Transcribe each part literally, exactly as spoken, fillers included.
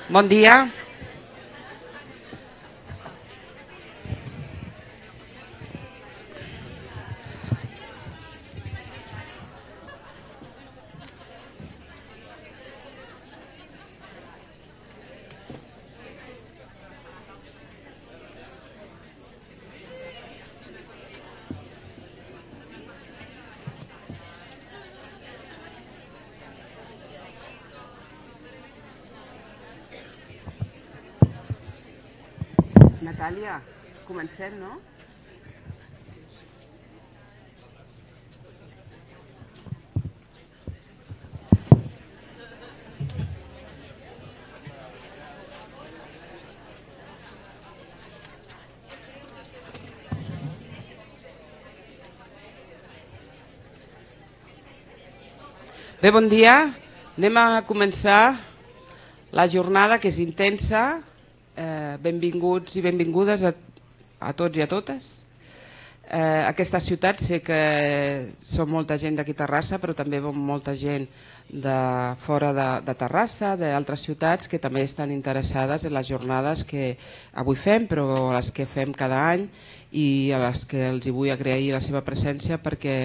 Bon dia. Natàlia, comencem, no? Bé, bon dia. Anem a començar la jornada, que és intensa. Eh, benvinguts i benvingudes a, a tots i a totes. Eh, aquesta ciutat sé que som molta gent d'aquí a Terrassa, però també molta gent de fora de, de Terrassa, d'altres ciutats que també estan interessades en les jornades que avui fem, però les que fem cada any, i a les que els hi vull agrair la seva presència, perquè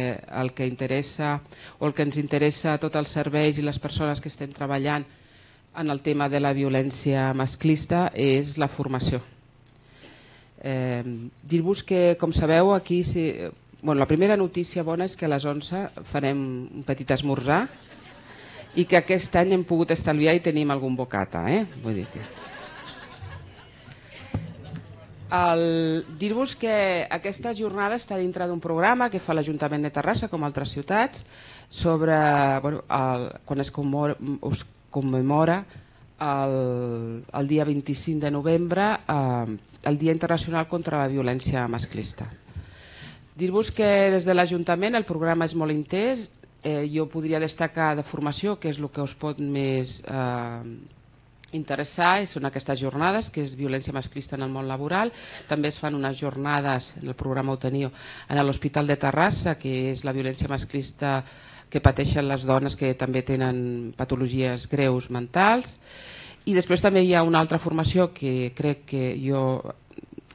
el que interessa o el que ens interessa a tots els serveis i les persones que estem treballant en el tema de la violència masclista és la formació. Eh, Dir-vos que, com sabeu, aquí si, bueno, la primera notícia bona és que a les onze farem un petit esmorzar i que aquest any hem pogut estalviar i tenim algun bocata. Eh? Vull dir que... Dir-vos que aquesta jornada està dintre d'un programa que fa l'Ajuntament de Terrassa, com altres ciutats, sobre bueno, el, quan es commemora, es commemora el, el dia vint-i-cinc de novembre eh, el Dia Internacional contra la Violència Masclista. Dir-vos que des de l'Ajuntament el programa és molt intens. Eh, jo podria destacar de formació, que és el que us pot més eh, interessar, són aquestes jornades, que és violència masclista en el món laboral. També es fan unes jornades, en el programa ho teniu, en l'Hospital de Terrassa, que és la violència masclista que pateixen les dones que també tenen patologies greus mentals. I després també hi ha una altra formació que crec que jo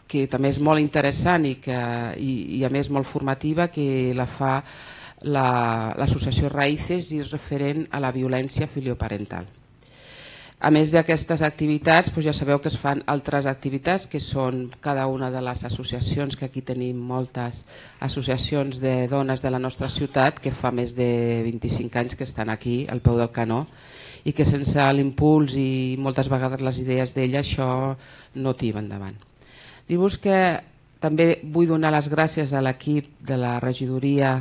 que també és molt interessant i, que, i, i a més molt formativa, que la fa l'associació Raïces i és referent a la violència filioparental. A més d'aquestes activitats, doncs ja sabeu que es fan altres activitats que són cada una de les associacions, que aquí tenim moltes associacions de dones de la nostra ciutat que fa més de vint-i-cinc anys que estan aquí al peu del canó i que sense l'impuls i moltes vegades les idees d'ella això no tira endavant. Dir-vos que també vull donar les gràcies a l'equip de la regidoria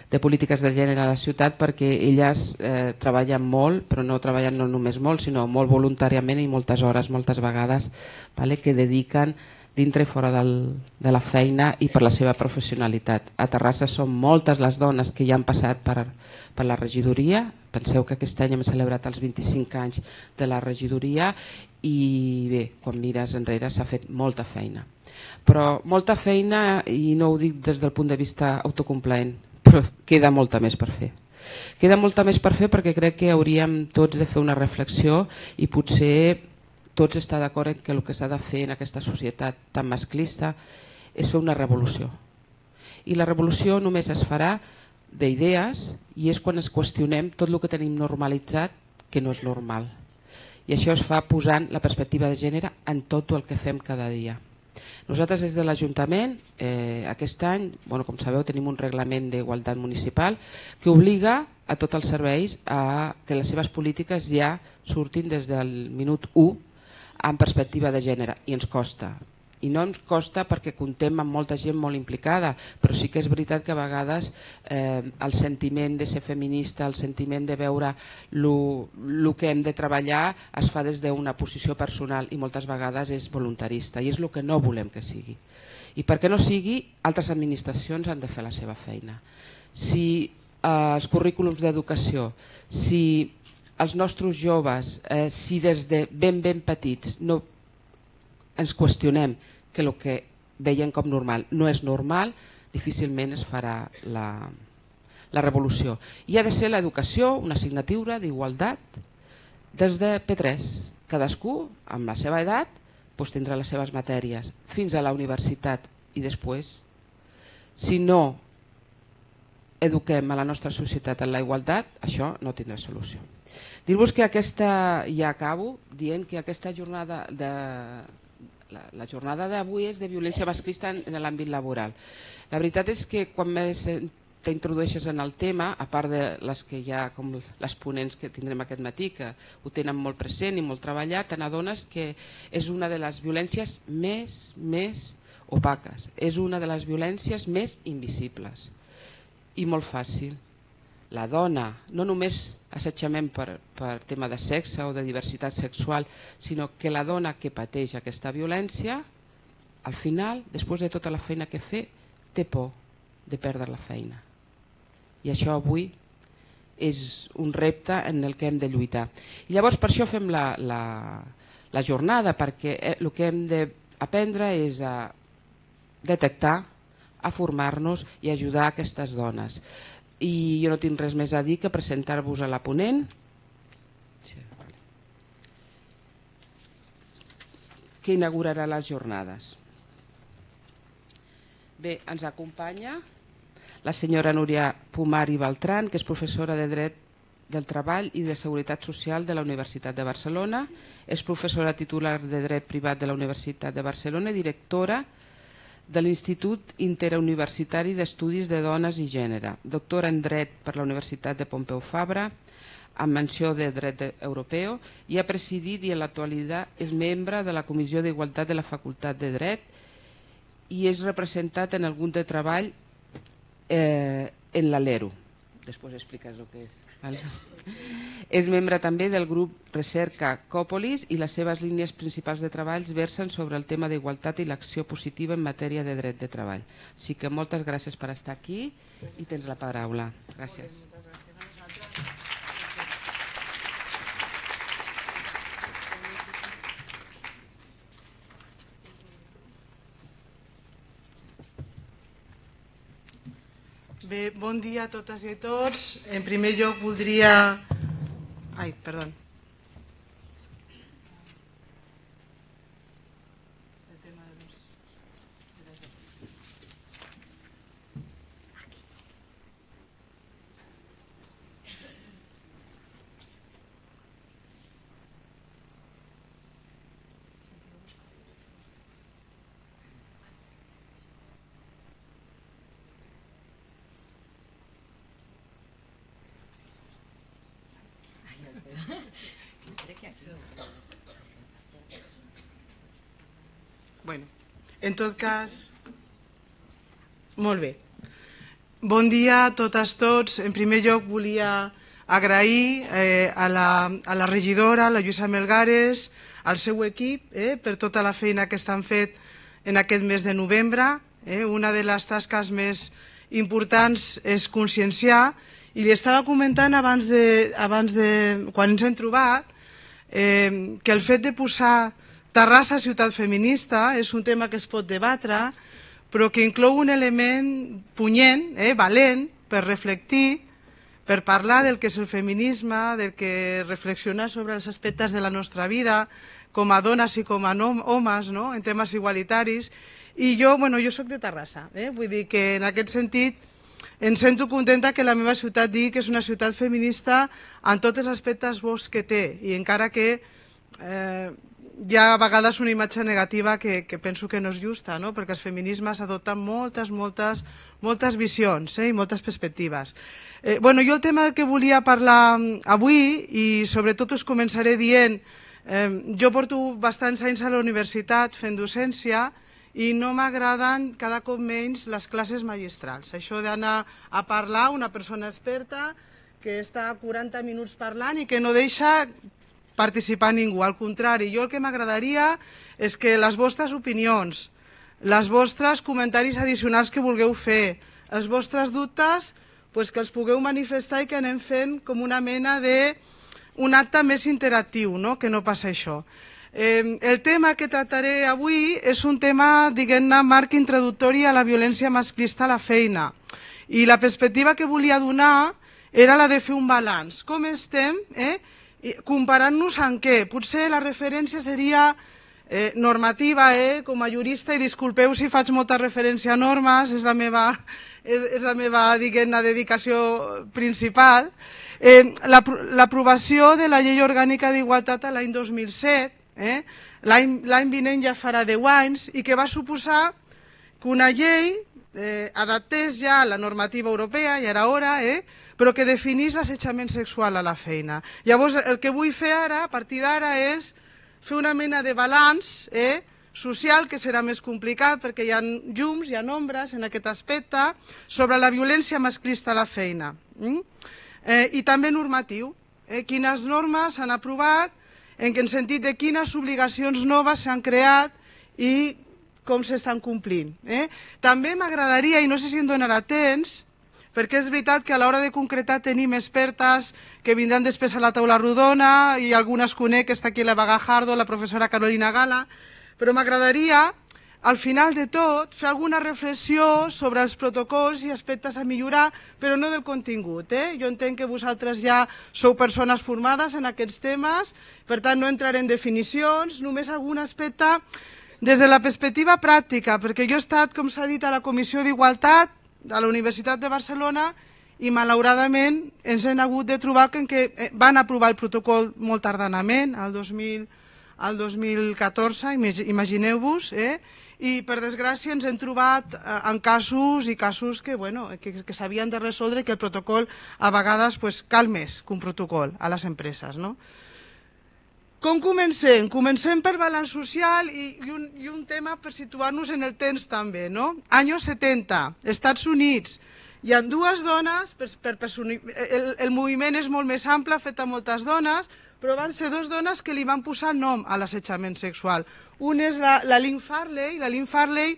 de polítiques de gènere a la ciutat, perquè elles eh, treballen molt, però no treballen no només molt, sinó molt voluntàriament i moltes hores, moltes vegades, vale, que dediquen dintre i fora del, de la feina i per la seva professionalitat. A Terrassa són moltes les dones que ja han passat per, per la regidoria. Penseu que aquest any hem celebrat els vint-i-cinc anys de la regidoria i bé, quan mires enrere s'ha fet molta feina. Però molta feina, i no ho dic des del punt de vista autocomplaent, però queda molta més per fer. Queda molta més per fer perquè crec que hauríem tots de fer una reflexió i potser tots estar d'acord en que el que s'ha de fer en aquesta societat tan masclista és fer una revolució. I la revolució només es farà d'idees i és quan es qüestionem tot el que tenim normalitzat que no és normal. I això es fa posant la perspectiva de gènere en tot el que fem cada dia. Nosaltres des de l'Ajuntament eh, aquest any, bueno, com sabeu, tenim un reglament d'igualtat municipal que obliga a tots els serveis a que les seves polítiques ja surtin des del minut u en perspectiva de gènere, i ens costa. I no ens costa perquè comptem amb molta gent molt implicada, però sí que és veritat que a vegades eh, el sentiment de ser feminista, el sentiment de veure el que hem de treballar es fa des d'una posició personal i moltes vegades és voluntarista i és el que no volem que sigui. I perquè no sigui, altres administracions han de fer la seva feina. Si eh, els currículums d'educació, si els nostres joves, eh, si des de ben ben petits no ens qüestionem que el que veiem com normal no és normal, difícilment es farà la, la revolució. I ha de ser l'educació una assignatura d'igualtat des de P tres. cadascú, amb la seva edat, doncs tindrà les seves matèries, fins a la universitat i després. Si no eduquem a la nostra societat en la igualtat, això no tindrà solució. Dir-vos que aquesta, ja acabo, dient que aquesta jornada de... La, la jornada d'avui és de violència masclista en, en l'àmbit laboral. La veritat és que quan més t'introdueixes en el tema, a part de les que hi ha, com les ponents que tindrem aquest matí, que ho tenen molt present i molt treballat, te n'adones que és una de les violències més, més opaques, és una de les violències més invisibles i molt fàcil. La dona, no només assetjament per, per tema de sexe o de diversitat sexual, sinó que la dona que pateix aquesta violència, al final, després de tota la feina que fa, té por de perdre la feina. I això avui és un repte en el que hem de lluitar. I llavors per això fem la, la, la jornada, perquè el que hem d'aprendre és a detectar, a formar-nos i ajudar aquestes dones. I jo no tinc res més a dir que presentar-vos a la ponent, que inaugurarà les jornades. Bé, ens acompanya la senyora Núria Pomar i Beltran, que és professora de Dret del Treball i de Seguretat Social de la Universitat de Barcelona, és professora titular de Dret Privat de la Universitat de Barcelona i directora de l'Institut Interuniversitari d'Estudis de Dones i Gènere, doctora en Dret per la Universitat de Pompeu Fabra, amb menció de Dret Europeu, i ha presidit i en l'actualitat és membre de la Comissió d'Igualtat de la Facultat de Dret i és representat en el grup de treball eh, en l'Alero. Després expliques el que és. Vale? És membre també del grup Recerca Còpolis i les seves línies principals de treballs versen sobre el tema d'igualtat i l'acció positiva en matèria de dret de treball. Així que moltes gràcies per estar aquí i tens la paraula. Gràcies. Bé, bon dia a totes i a tots. En primer lloc voldria... Ai, perdó. Bueno, en tot cas, molt bé. Bon dia a totes tots. En primer lloc volia agrair eh, a, la, a la regidora, la Lluïsa Melgares, al seu equip, eh, per tota la feina que estan fet en aquest mes de novembre. Eh, una de les tasques més importants és conscienciar, i li estava comentant abans de, abans de quan ens hem trobat, eh, que el fet de posar Terrassa ciutat feminista és un tema que es pot debatre, però que inclou un element punyent, eh, valent, per reflectir, per parlar del que és el feminisme, del que reflexionar sobre els aspectes de la nostra vida, com a dones i com a homes, no? En temes igualitaris. I jo, bueno, jo soc de Terrassa, eh? Vull dir que en aquest sentit em sento contenta que la meva ciutat digui que és una ciutat feminista en tots els aspectes bons que té, i encara que eh, hi ha a vegades una imatge negativa que, que penso que no és justa, no? Perquè els feminismes adopten moltes, moltes, moltes visions, eh? I moltes perspectives. Eh, bueno, jo el tema del que volia parlar avui, i sobretot us començaré dient, eh, jo porto bastants anys a la universitat fent docència i no m'agraden cada cop menys les classes magistrals. Això d'anar a parlar una persona experta que està quaranta minuts parlant i que no deixa participar ningú. Al contrari, jo el que m'agradaria és que les vostres opinions, les vostres comentaris addicionals que vulgueu fer, els vostres dubtes, pues que els pugueu manifestar i que anem fent com una mena d'un acte més interactiu, no? Que no passa això. Eh, el tema que tractaré avui és un tema, diguem-ne, marc introductori a la violència masclista a la feina. I la perspectiva que volia donar era la de fer un balanç. Com estem, eh? comparant-nos en què? Potser la referència seria eh, normativa, eh, com a jurista, i disculpeu si faig molta referència a normes, és la meva, és, és la meva diguem-ne, dedicació principal. Eh, L'aprovació de la Llei Orgànica d'Igualtat l'any dos mil set, eh, l'any vinent ja farà deu anys, i que va suposar que una llei eh, adaptés ja la normativa europea, ja era hora, eh, però que definís l'assetjament sexual a la feina. Llavors, el que vull fer ara, a partir d'ara, és fer una mena de balanç eh, social, que serà més complicat perquè hi ha llums, hi ha ombres en aquest aspecte, sobre la violència masclista a la feina. Mm? Eh, I també normatiu. Eh, quines normes s'han aprovat, en el sentit de quines obligacions noves s'han creat i com s'estan complint. Eh? També m'agradaria, i no sé si em donarà temps, perquè és veritat que a l'hora de concretar tenim expertes que vindran després a la taula rodona, i algunes conec, que està aquí la Vaga Jardo, la professora Carolina Gala, però m'agradaria, al final de tot, fer alguna reflexió sobre els protocols i aspectes a millorar, però no del contingut. Eh? Jo entenc que vosaltres ja sou persones formades en aquests temes, per tant no entraré en definicions, només algun aspecte des de la perspectiva pràctica, perquè jo he estat, com s'ha dit, a la Comissió d'Igualtat a la Universitat de Barcelona i malauradament ens hem hagut de trobar que van aprovar el protocol molt tardanament, el dos mil catorze, imagineu-vos, eh? I per desgràcia ens hem trobat en casos i casos que, bueno, que, que s'havien de resoldre i que el protocol a vegades pues, cal més que un protocol a les empreses. No? Com comencem? Comencem per balanç social i, i, un, i un tema per situar-nos en el temps també. No? Anys setanta, Estats Units, hi ha dues dones, per, per, per, el, el moviment és molt més ample, fet a moltes dones, però van ser dues dones que li van posar nom a l'assetjament sexual. Una és la, la Lynn Farley, la Lynn Farley,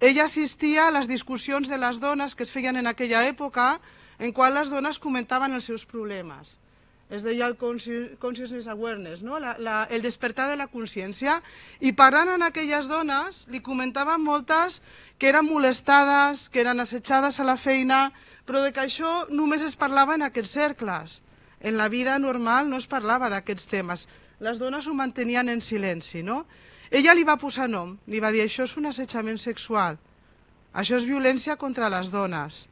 ella assistia a les discussions de les dones que es feien en aquella època, en qual les dones comentaven els seus problemes. Es deia el consciousness awareness, no? la, la, el despertar de la consciència, i parlant en aquelles dones li comentaven moltes que eren molestades, que eren assetjades a la feina, però de que això només es parlava en aquests cercles. En la vida normal no es parlava d'aquests temes. Les dones ho mantenien en silenci. No? Ella li va posar nom, li va dir això és un assetjament sexual, això és violència contra les dones.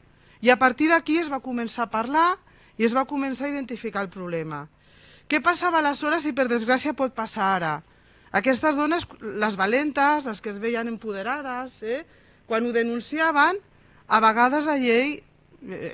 I a partir d'aquí es va començar a parlar i es va començar a identificar el problema. Què passava aleshores i per desgràcia pot passar ara? Aquestes dones, les valentes, les que es veien empoderades, eh, quan ho denunciaven, a vegades la llei,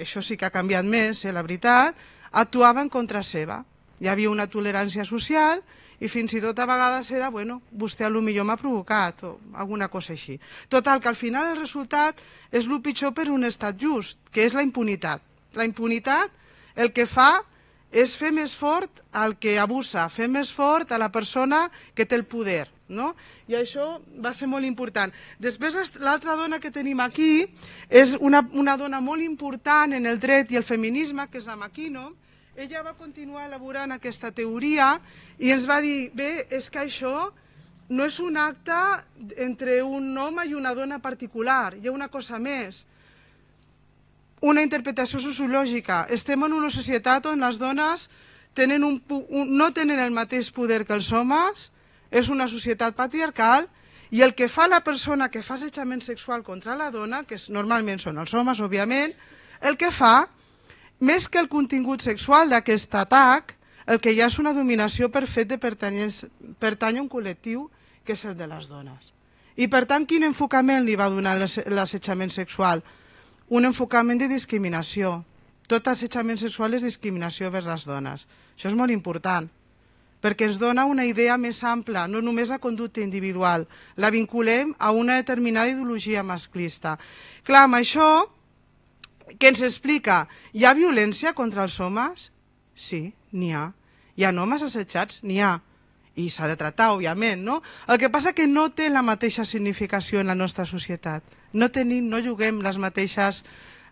això sí que ha canviat més, eh, la veritat, actuava en contra seva. Hi havia una tolerància social i fins i tot a vegades era, bueno, vostè potser m'ha provocat o alguna cosa així. Total, que al final el resultat és el pitjor per un estat just, que és la impunitat. La impunitat el que fa és fer més fort al que abusa, fer més fort a la persona que té el poder. No? I això va ser molt important. Després, l'altra dona que tenim aquí és una, una dona molt important en el dret i el feminisme, que és la McKinnon. Ella va continuar elaborant aquesta teoria i ens va dir, bé, és que això no és un acte entre un home i una dona particular, hi ha una cosa més. Una interpretació sociològica. Estem en una societat on les dones tenen un, un, no tenen el mateix poder que els homes, és una societat patriarcal, i el que fa la persona que fa assetjament sexual contra la dona, que normalment són els homes, òbviament, el que fa, més que el contingut sexual d'aquest atac, el que hi ha és una dominació per fet de pertany a un col·lectiu que és el de les dones. I per tant, quin enfocament li va donar l'assetjament sexual? Un enfocament de discriminació. Tot assetjament sexual és discriminació vers les dones. Això és molt important, perquè ens dona una idea més ampla, no només la conducta individual. La vinculem a una determinada ideologia masclista. Clar, amb això, què ens explica? Hi ha violència contra els homes? Sí, n'hi ha. Hi ha homes assetjats? N'hi ha. I s'ha de tractar, òbviament, no? El que passa que no té la mateixa significació en la nostra societat. No tenim, no juguem les mateixes,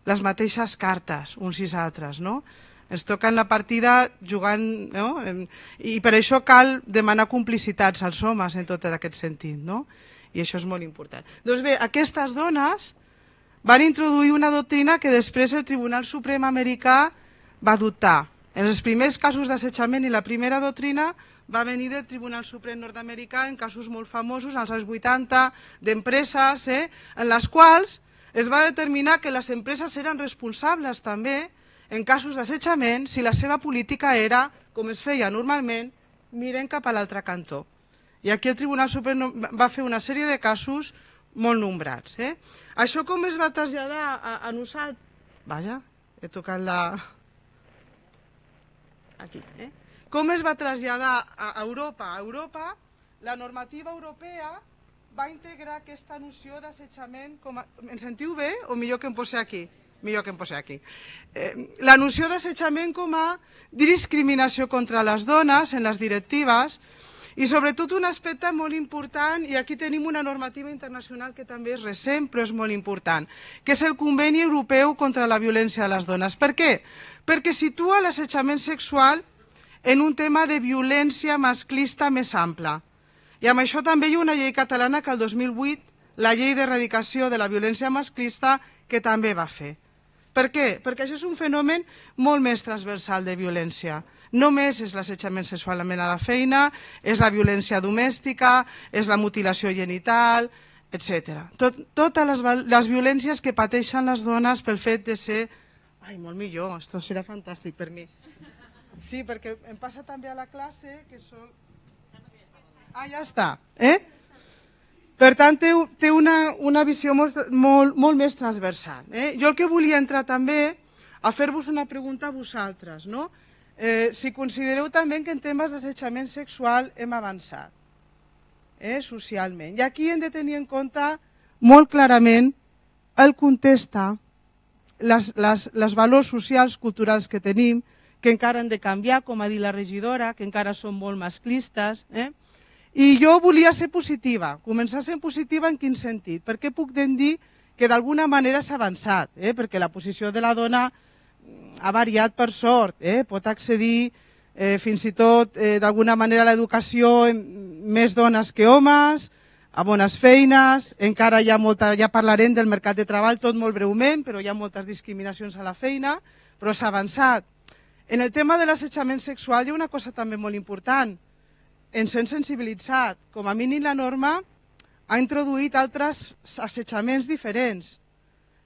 les mateixes cartes uns i altres, no? Ens toquen la partida jugant, no? I per això cal demanar complicitats als homes en tot aquest sentit, no? I això és molt important. Doncs bé, aquestes dones van introduir una doctrina que després el Tribunal Suprem americà va adoptar, En els primers casos d'assetjament i la primera doctrina va venir del Tribunal Suprem nord-americà en casos molt famosos, als anys vuitanta, d'empreses, eh, en les quals es va determinar que les empreses eren responsables també, en casos d'assetjament, si la seva política era, com es feia normalment, miren cap a l'altre cantó. I aquí el Tribunal Suprem va fer una sèrie de casos molt nombrats. Eh? Això com es va traslladar a, a nosaltres? Vaja, he tocat la... Aquí, eh? Com es va traslladar a Europa? A Europa, la normativa europea va integrar aquesta noció d'assetjament com a... Em sentiu bé o millor que em posi aquí? Millor que em posi aquí. Eh, la noció d'assetjament com a discriminació contra les dones en les directives i sobretot un aspecte molt important, i aquí tenim una normativa internacional que també és recent però és molt important, que és el Conveni Europeu contra la Violència de les Dones. Per què? Perquè situa l'assetjament sexual en un tema de violència masclista més ampla. I amb això també hi ha una llei catalana que el dos mil vuit, la llei d'erradicació de la violència masclista, que també va fer. Per què? Perquè això és un fenomen molt més transversal de violència. Només és l'assetjament sexualment a la feina, és la violència domèstica, és la mutilació genital, etcètera. Tot, totes les, les violències que pateixen les dones pel fet de ser... Ai, molt millor, esto serà fantàstic per mi. Sí, perquè em passa també a la classe que són... Ah, ja està. Eh? Per tant, té, té una, una visió molt, molt, molt més transversal. Eh? Jo el que volia entrar també a fer-vos una pregunta a vosaltres, no? Eh, si considereu també que en temes d'assetjament sexual hem avançat eh, socialment. I aquí hem de tenir en compte molt clarament el context, les, les, les valors socials, culturals que tenim, que encara han de canviar, com ha dit la regidora, que encara són molt masclistes. Eh? I jo volia ser positiva, començar sent positiva en quin sentit? Perquè puc dir que d'alguna manera s'ha avançat, eh? Perquè la posició de la dona ha variat per sort, eh? Pot accedir eh, fins i tot eh, d'alguna manera a l'educació més dones que homes, a bones feines, encara hi ha molta, ja parlarem del mercat de treball tot molt breument, però hi ha moltes discriminacions a la feina, però s'ha avançat. En el tema de l'assetjament sexual hi ha una cosa també molt important, ens hem sensibilitzat, com a mínim la norma ha introduït altres assetjaments diferents,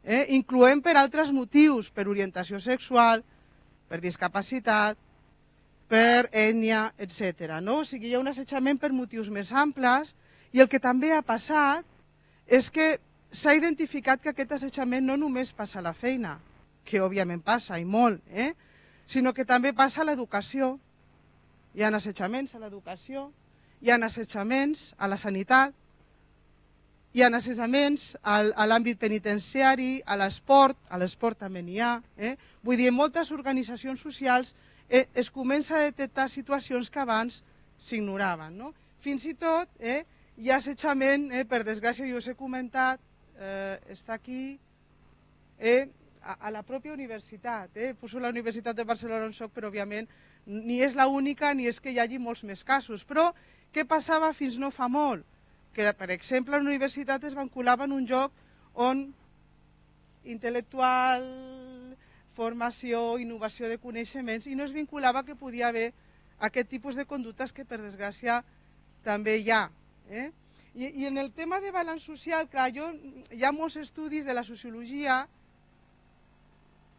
eh? incloent per altres motius, per orientació sexual, per discapacitat, per ètnia, etcètera. No? O sigui, hi ha un assetjament per motius més amples i el que també ha passat és que s'ha identificat que aquest assetjament no només passa a la feina, que òbviament passa i molt, eh? sinó que també passa a l'educació. Hi ha assetjaments a l'educació, hi ha assetjaments a la sanitat, hi ha assetjaments a l'àmbit penitenciari, a l'esport, a l'esport també n'hi ha. Eh? Vull dir, en moltes organitzacions socials eh, es comença a detectar situacions que abans s'ignoraven. No? Fins i tot eh, hi ha assetjament, eh, per desgràcia jo us he comentat, eh, està aquí, eh, a, a la pròpia universitat. Eh? Poso la Universitat de Barcelona on soc, però òbviament ni és l'única ni és que hi hagi molts més casos. Però què passava fins no fa molt? Que, per exemple, la universitat es vinculava en un lloc on intel·lectual, formació, innovació de coneixements, i no es vinculava que podia haver aquest tipus de conductes que, per desgràcia, també hi ha. Eh? I, I en el tema de balanç social, clar, jo, hi ha molts estudis de la sociologia,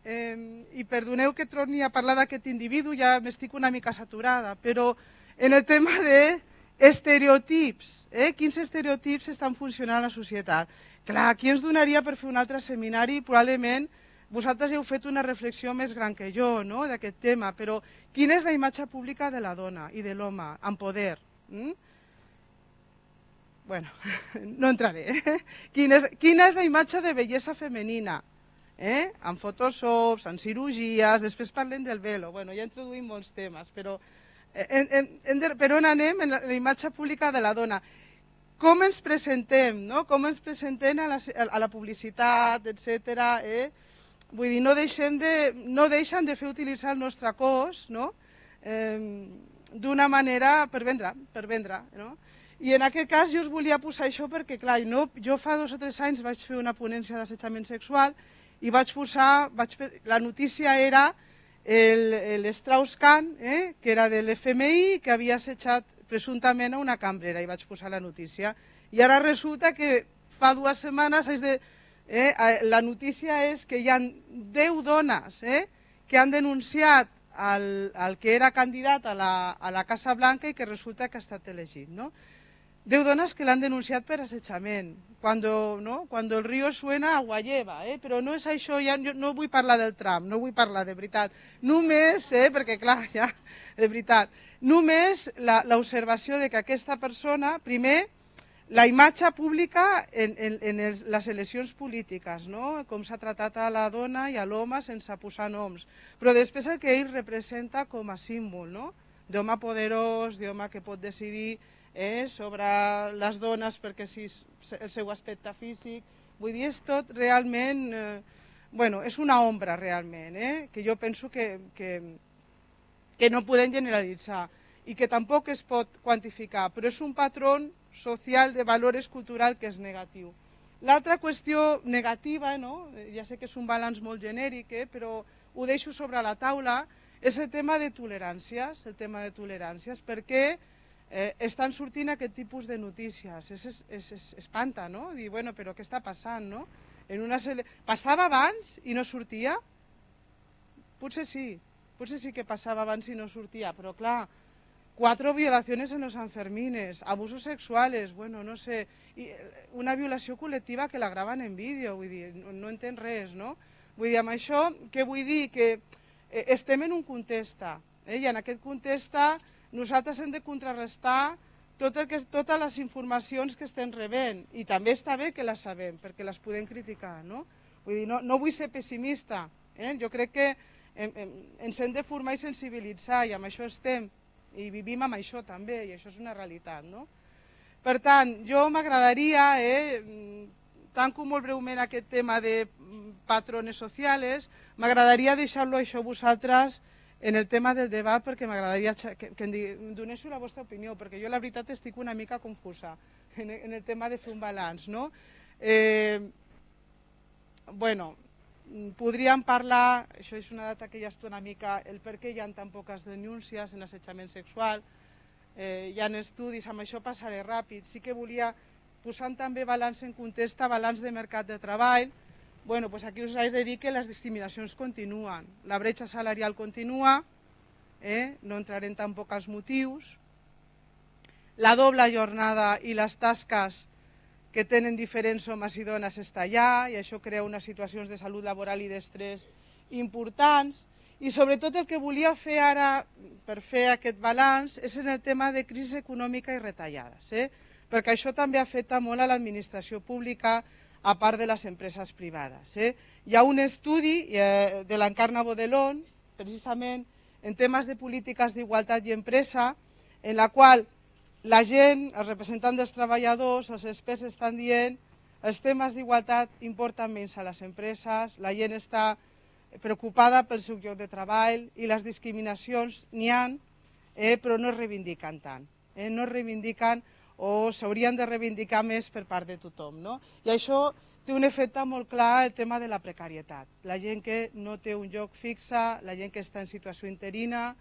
eh, i perdoneu que torni a parlar d'aquest individu, ja m'estic una mica saturada, però en el tema de estereotips, eh? quins estereotips estan funcionant a la societat. Clar, aquí ens donaria per fer un altre seminari, probablement vosaltres heu fet una reflexió més gran que jo no? d'aquest tema, però quina és la imatge pública de la dona i de l'home amb poder? Mm? Bueno, no entraré. Eh? Quina, és, quina és la imatge de bellesa femenina? Eh? Amb photoshops, amb cirurgies, després parlem del velo, bueno, ja introduïm molts temes, però En, en, en, per on anem en la, la imatge pública de la dona? Com ens presentem, no? Com ens presentem a la, a la publicitat, etcètera. Eh? Vull dir, no, deixem de, no deixen de fer utilitzar el nostre cos no? eh, d'una manera per vendre, per vendre. No? I en aquest cas jo us volia posar això perquè, clar, no, jo fa dos o tres anys vaig fer una ponència d'assetjament sexual i vaig posar, vaig, la notícia era el Strauss-Kahn, eh, que era de l'F M I, que havia assetjat presumptament a una cambrera, i vaig posar la notícia. I ara resulta que fa dues setmanes és de, eh, la notícia és que hi ha deu dones eh, que han denunciat al, al que era candidat a la, a la Casa Blanca i que resulta que ha estat elegit. No? Deu dones que l'han denunciat per assetjament, cuando, ¿no? cuando el río suena agua lleva, eh? Però no és això, ja, no vull parlar del Trump, no vull parlar de veritat, només, eh? perquè clar, ja, de veritat, només l'observació de que aquesta persona, primer, la imatge pública en, en, en el, les eleccions polítiques, no? Com s'ha tratat a la dona i a l'home sense posar noms, però després el que ell representa com a símbol, no? D'home poderós, d'home que pot decidir Eh, sobre les dones perquè si el seu aspecte físic, vull dir, és tot realment, eh, bueno, és una ombra realment, eh, que jo penso que, que, que no podem generalitzar i que tampoc es pot quantificar, però és un patró social de valors culturals que és negatiu. L'altra qüestió negativa, no? Ja sé que és un balanç molt genèric, eh, però ho deixo sobre la taula, és el tema de toleràncies, el tema de toleràncies, perquè Eh, estan sortint aquest tipus de notícies. Es, es, es, es espanta, no? Dir, bueno, però què està passant, no? En una sele... Passava abans i no sortia? Potser sí, potser sí que passava abans i no sortia, però clar, quatre violaciones en los Sanfermines, abusos sexuales, bueno, no sé, i una violació col·lectiva que la graven en vídeo, vull dir, no, no entenc res, no? Vull dir, amb això, què vull dir? Que eh, estem en un context, eh? I en aquest context nosaltres hem de contrarrestar tot el que, totes les informacions que estem rebent i també està bé que les sabem perquè les podem criticar. No, vull dir, no, no vull ser pessimista, eh? Jo crec que em, em, ens hem de formar i sensibilitzar i amb això estem i vivim amb això també i això és una realitat. No? Per tant, jo m'agradaria, eh, tanco molt breument aquest tema de patrones socials, m'agradaria deixar-lo això a vosaltres en el tema del debat perquè m'agradaria que, que em donéssiu la vostra opinió, perquè jo la veritat estic una mica confusa en, en el tema de fer un balanç. No? Eh, bueno, podríem parlar, això és una data que ja està una mica, el per què hi ha tan poques denúncies en assetjament sexual, eh, hi ha estudis, amb això passaré ràpid, sí que volia posar també balanç en context, balanç de mercat de treball. Bueno, pues aquí us haig de dir que les discriminacions continuen, la bretxa salarial continua, eh? No entraré en tampoc als motius, la doble jornada i les tasques que tenen diferents homes i dones està allà i això crea unes situacions de salut laboral i d'estrès importants i sobretot el que volia fer ara per fer aquest balanç és en el tema de crisi econòmica i retallades, eh? Perquè això també afecta molt a l'administració pública, a part de les empreses privades. Eh? Hi ha un estudi eh, de l'Encarna Bodelón, precisament en temes de polítiques d'igualtat i empresa, en la qual la gent, els representants dels treballadors, els experts estan dient els temes d'igualtat importen menys a les empreses, la gent està preocupada pel seu lloc de treball i les discriminacions n'hi ha, eh, però no es reivindiquen tant. Eh? No es reivindiquen o s'haurien de reivindicar més per part de tothom. No? I això té un efecte molt clar el tema de la precarietat. La gent que no té un lloc fixe, la gent que està en situació interina,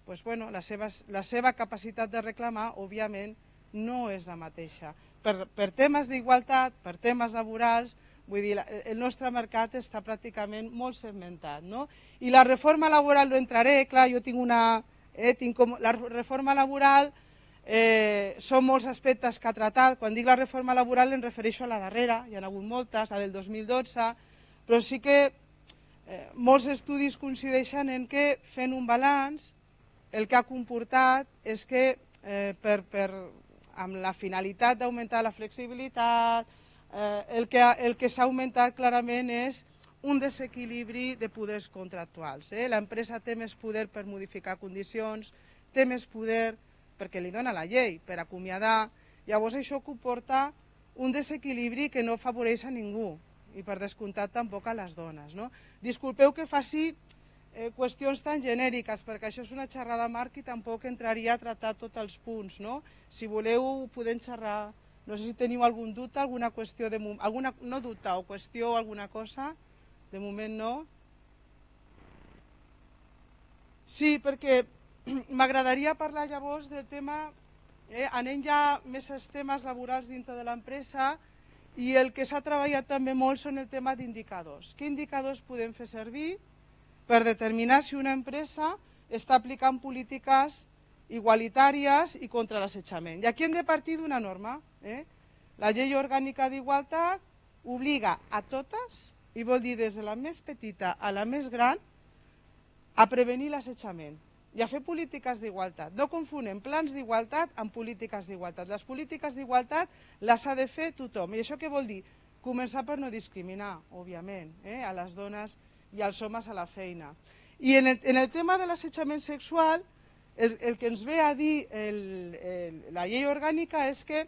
pues bueno, la, seva, la seva capacitat de reclamar, òbviament, no és la mateixa. Per, per temes d'igualtat, per temes laborals, vull dir, el nostre mercat està pràcticament molt segmentat. No? I la reforma laboral no entraré, clar, jo tinc una... Eh, tinc com, la reforma laboral Eh, són molts aspectes que ha tratat. Quan dic la reforma laboral em refereixo a la darrera, hi ha hagut moltes, la del dos mil dotze, però sí que eh, molts estudis coincideixen en que fent un balanç el que ha comportat és que eh, per, per, amb la finalitat d'augmentar la flexibilitat, eh, el que, el que s'ha augmentat clarament és un desequilibri de poders contractuals. Eh? L'empresa té més poder per modificar condicions, té més poder perquè li dona la llei per acomiadar, llavors això comporta un desequilibri que no afavoreix a ningú i per descomptat tampoc a les dones. No? Disculpeu que faci eh, qüestions tan genèriques perquè això és una xerrada marc i tampoc entraria a tractar tots els punts. No? Si voleu podem xerrar, no sé si teniu algun dubte, alguna qüestió, de, alguna, no dubte o qüestió o alguna cosa, de moment no. Sí, perquè m'agradaria parlar llavors del tema, eh, anem ja més als temes laborals dintre de l'empresa, i el que s'ha treballat també molt són el tema d'indicadors. Què indicadors podem fer servir per determinar si una empresa està aplicant polítiques igualitàries i contra l'assetjament? I aquí hem de partir d'una norma. Eh? La llei orgànica d'igualtat obliga a totes, i vol dir des de la més petita a la més gran, a prevenir l'assetjament i a fer polítiques d'igualtat. No confonem plans d'igualtat amb polítiques d'igualtat. Les polítiques d'igualtat les ha de fer tothom. I això què vol dir? Començar per no discriminar, òbviament, eh, a les dones i als homes a la feina. I en el, en el tema de l'assetjament sexual, el, el que ens ve a dir el, el, la llei orgànica és que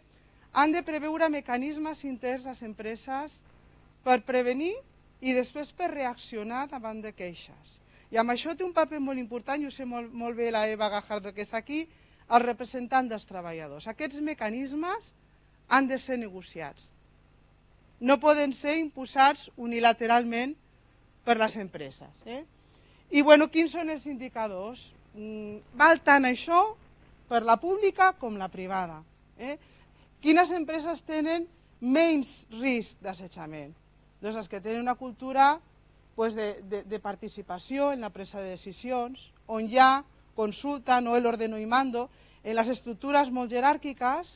han de preveure mecanismes interns les empreses per prevenir i després per reaccionar davant de queixes. I amb això té un paper molt important, i ho sé molt, molt bé la Eva Gajardo, que és aquí, el representant dels treballadors. Aquests mecanismes han de ser negociats. No poden ser imposats unilateralment per les empreses. Eh? I bueno, quins són els indicadors? Mm, val tant això per la pública com la privada. Eh? Quines empreses tenen menys risc d'assetjament? Doncs les que tenen una cultura pues de, de, de participació en la presa de decisions, on hi ha consulta, no el ordeno y mando. En les estructures molt jeràrquiques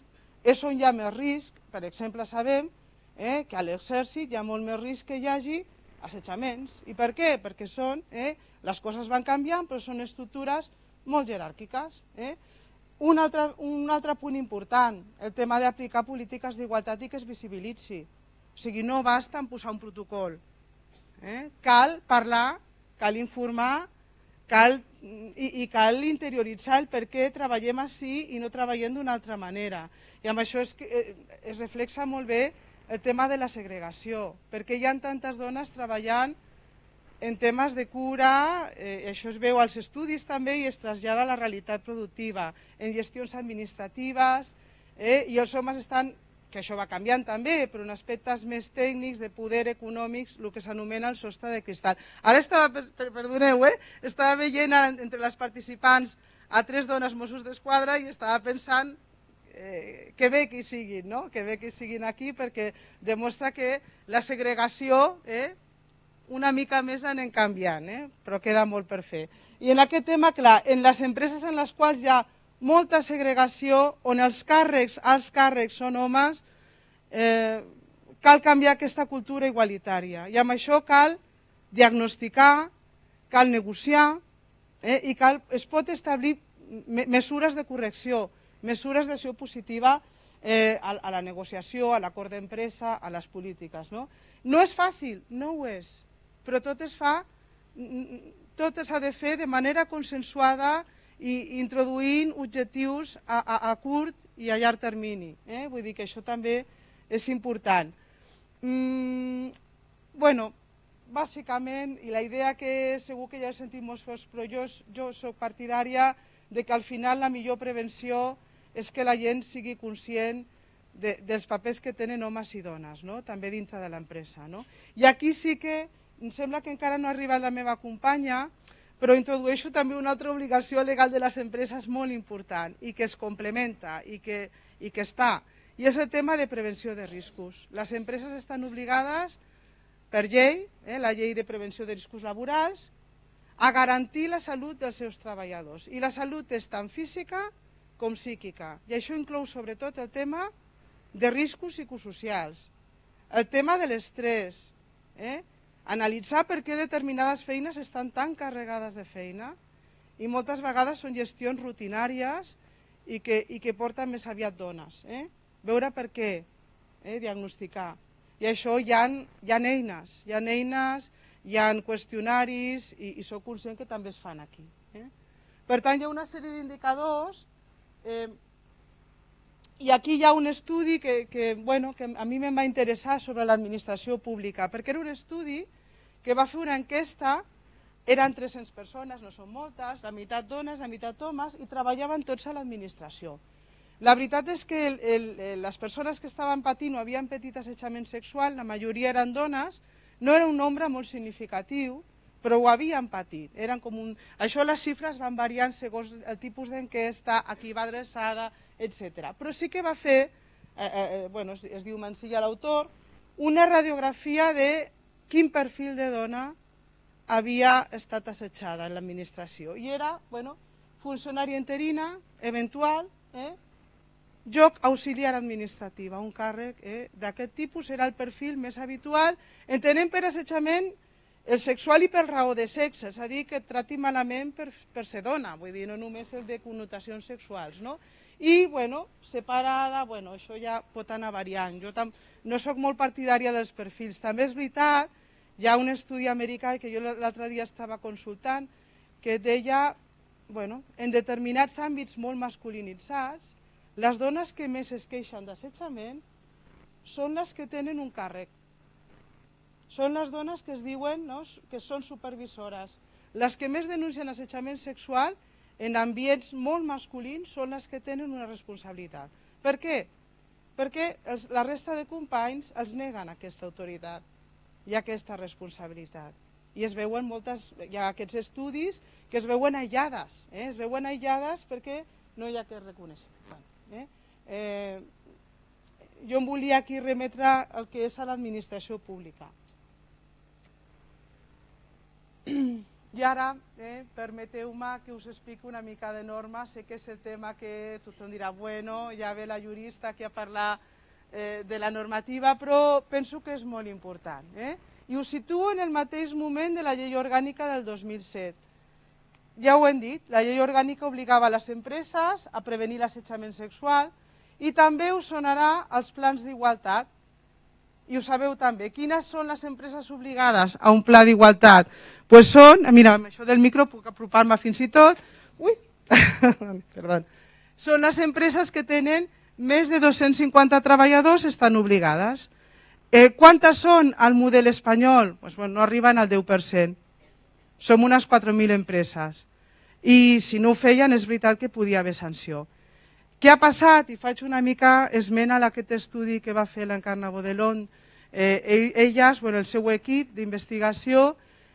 és on hi ha més risc. Per exemple, sabem eh, que a l'exèrcit hi ha molt més risc que hi hagi assetjaments. I per què? Perquè són, eh, les coses van canviant, però són estructures molt jeràrquiques. Eh? Un, altre, un altre punt important, el tema d'aplicar polítiques d'igualtat i que es visibilitzi. O sigui, no basta en posar un protocol. Eh? Cal parlar, cal informar, cal, i, i cal interioritzar el per què treballem així i no treballem d'una altra manera. I amb això es, es reflexa molt bé el tema de la segregació, perquè hi ha tantes dones treballant en temes de cura, eh, això es veu als estudis també i es trasllada a la realitat productiva, en gestions administratives, eh, i els homes estan, que això va canviant també, però en aspectes més tècnics, de poder econòmics, el que s'anomena el sostre de cristal. Ara estava, per, perdoneu, eh? estava veient entre les participants a tres dones Mossos d'Esquadra i estava pensant eh, que bé que hi siguin, no? que bé que hi siguin aquí, perquè demostra que la segregació eh, una mica més anem canviant, eh? però queda molt per fer. I en aquest tema, clar, en les empreses en les quals hi ha molta segregació, on els càrrecs, els càrrecs són homes, eh, cal canviar aquesta cultura igualitària. I amb això cal diagnosticar, cal negociar, eh, i cal, es pot establir me mesures de correcció, mesures d'acció positiva eh, a, a la negociació, a l'acord d'empresa, a les polítiques. No? no és fàcil, no ho és, però tot es fa, tot s'ha de fer de manera consensuada i introduint objectius a, a, a curt i a llarg termini. Eh? Vull dir que això també és important. Mm, bueno, bàsicament, i la idea que segur que ja he sentit molts cops, però jo, jo soc partidària de que al final la millor prevenció és que la gent sigui conscient de, dels papers que tenen homes i dones, no? també dintre de l'empresa. No? I aquí sí que em sembla que encara no ha arribat la meva companya, però introdueixo també una altra obligació legal de les empreses molt important i que es complementa i que, i que està, i és el tema de prevenció de riscos. Les empreses estan obligades per llei, eh, la llei de prevenció de riscos laborals, a garantir la salut dels seus treballadors. I la salut és tant física com psíquica. I això inclou sobretot el tema de riscos psicosocials, el tema de l'estrès, eh? analitzar per què determinades feines estan tan carregades de feina i moltes vegades són gestions rutinàries i que, i que porten més aviat dones. Eh? Veure per què, eh? diagnosticar. I això hi ha, hi ha eines, hi ha eines, hi ha qüestionaris i, i soc conscient que també es fan aquí. Eh? Per tant, hi ha una sèrie d'indicadors eh, i aquí hi ha un estudi que, que, bueno, que a mi em va interessar sobre l'administració pública, perquè era un estudi que va fer una enquesta, eren tres-centes persones, no són moltes, la meitat dones, la meitat homes, i treballaven tots a l'administració. La veritat és que el, el, les persones que estaven patint o havien patit assetjament sexual, la majoria eren dones, no era un nombre molt significatiu, però ho havien patit. Eren com un... Això les xifres van variant segons el tipus d'enquesta, a qui va adreçada, etcètera. Però sí que va fer, eh, eh, bueno, es, es diu Mansilla l'autor, una radiografia de quin perfil de dona havia estat assetjada en l'administració. I era, bueno, funcionària interina, eventual, eh, lloc auxiliar administrativa, un càrrec eh, d'aquest tipus era el perfil més habitual, entenent per assetjament el sexual i per raó de sexe, és a dir, que et trati malament per, per ser dona, vull dir, no només el de connotacions sexuals, no? I, bueno, separada, bueno, això ja pot anar variant. Jo tam no sóc molt partidària dels perfils. També és veritat, hi ha un estudi americà que jo l'altre dia estava consultant, que deia, bueno, en determinats àmbits molt masculinitzats, les dones que més es queixen d'assetjament són les que tenen un càrrec. Són les dones que es diuen, no?, que són supervisores. Les que més denuncien assetjament sexual en ambients molt masculins són les que tenen una responsabilitat. Per què? Perquè els, la resta de companys els neguen aquesta autoritat i aquesta responsabilitat. I es veuen moltes, hi ha aquests estudis que es veuen aïllades, eh? es veuen aïllades perquè no hi ha aquest reconeixement. Eh? Eh, jo em volia aquí remetre el que és a l'administració pública. I ara, eh, permeteu-me que us expliqui una mica de norma. Sé que és el tema que tothom dirà, bueno, ja ve la jurista aquí a parlar eh, de la normativa, però penso que és molt important. Eh? I ho situo en el mateix moment de la llei orgànica del dos mil set. Ja ho hem dit, la llei orgànica obligava les empreses a prevenir l'assetjament sexual i també us sonarà els plans d'igualtat. I ho sabeu també. Quines són les empreses obligades a un pla d'igualtat? Pues són, mira, amb això del micro puc apropar-me fins i tot, ui, perdó, són les empreses que tenen més de dos-cents cinquanta treballadors, estan obligades. Eh, quantes són al model espanyol? Pues, bueno, no arriben al deu per cent. Som unes quatre mil empreses. I si no ho feien, és veritat que podia haver sanció. Què ha passat? I faig una mica esmena a aquest estudi que va fer l'Encarna Bodelón. Eh, elles, bueno, el seu equip d'investigació,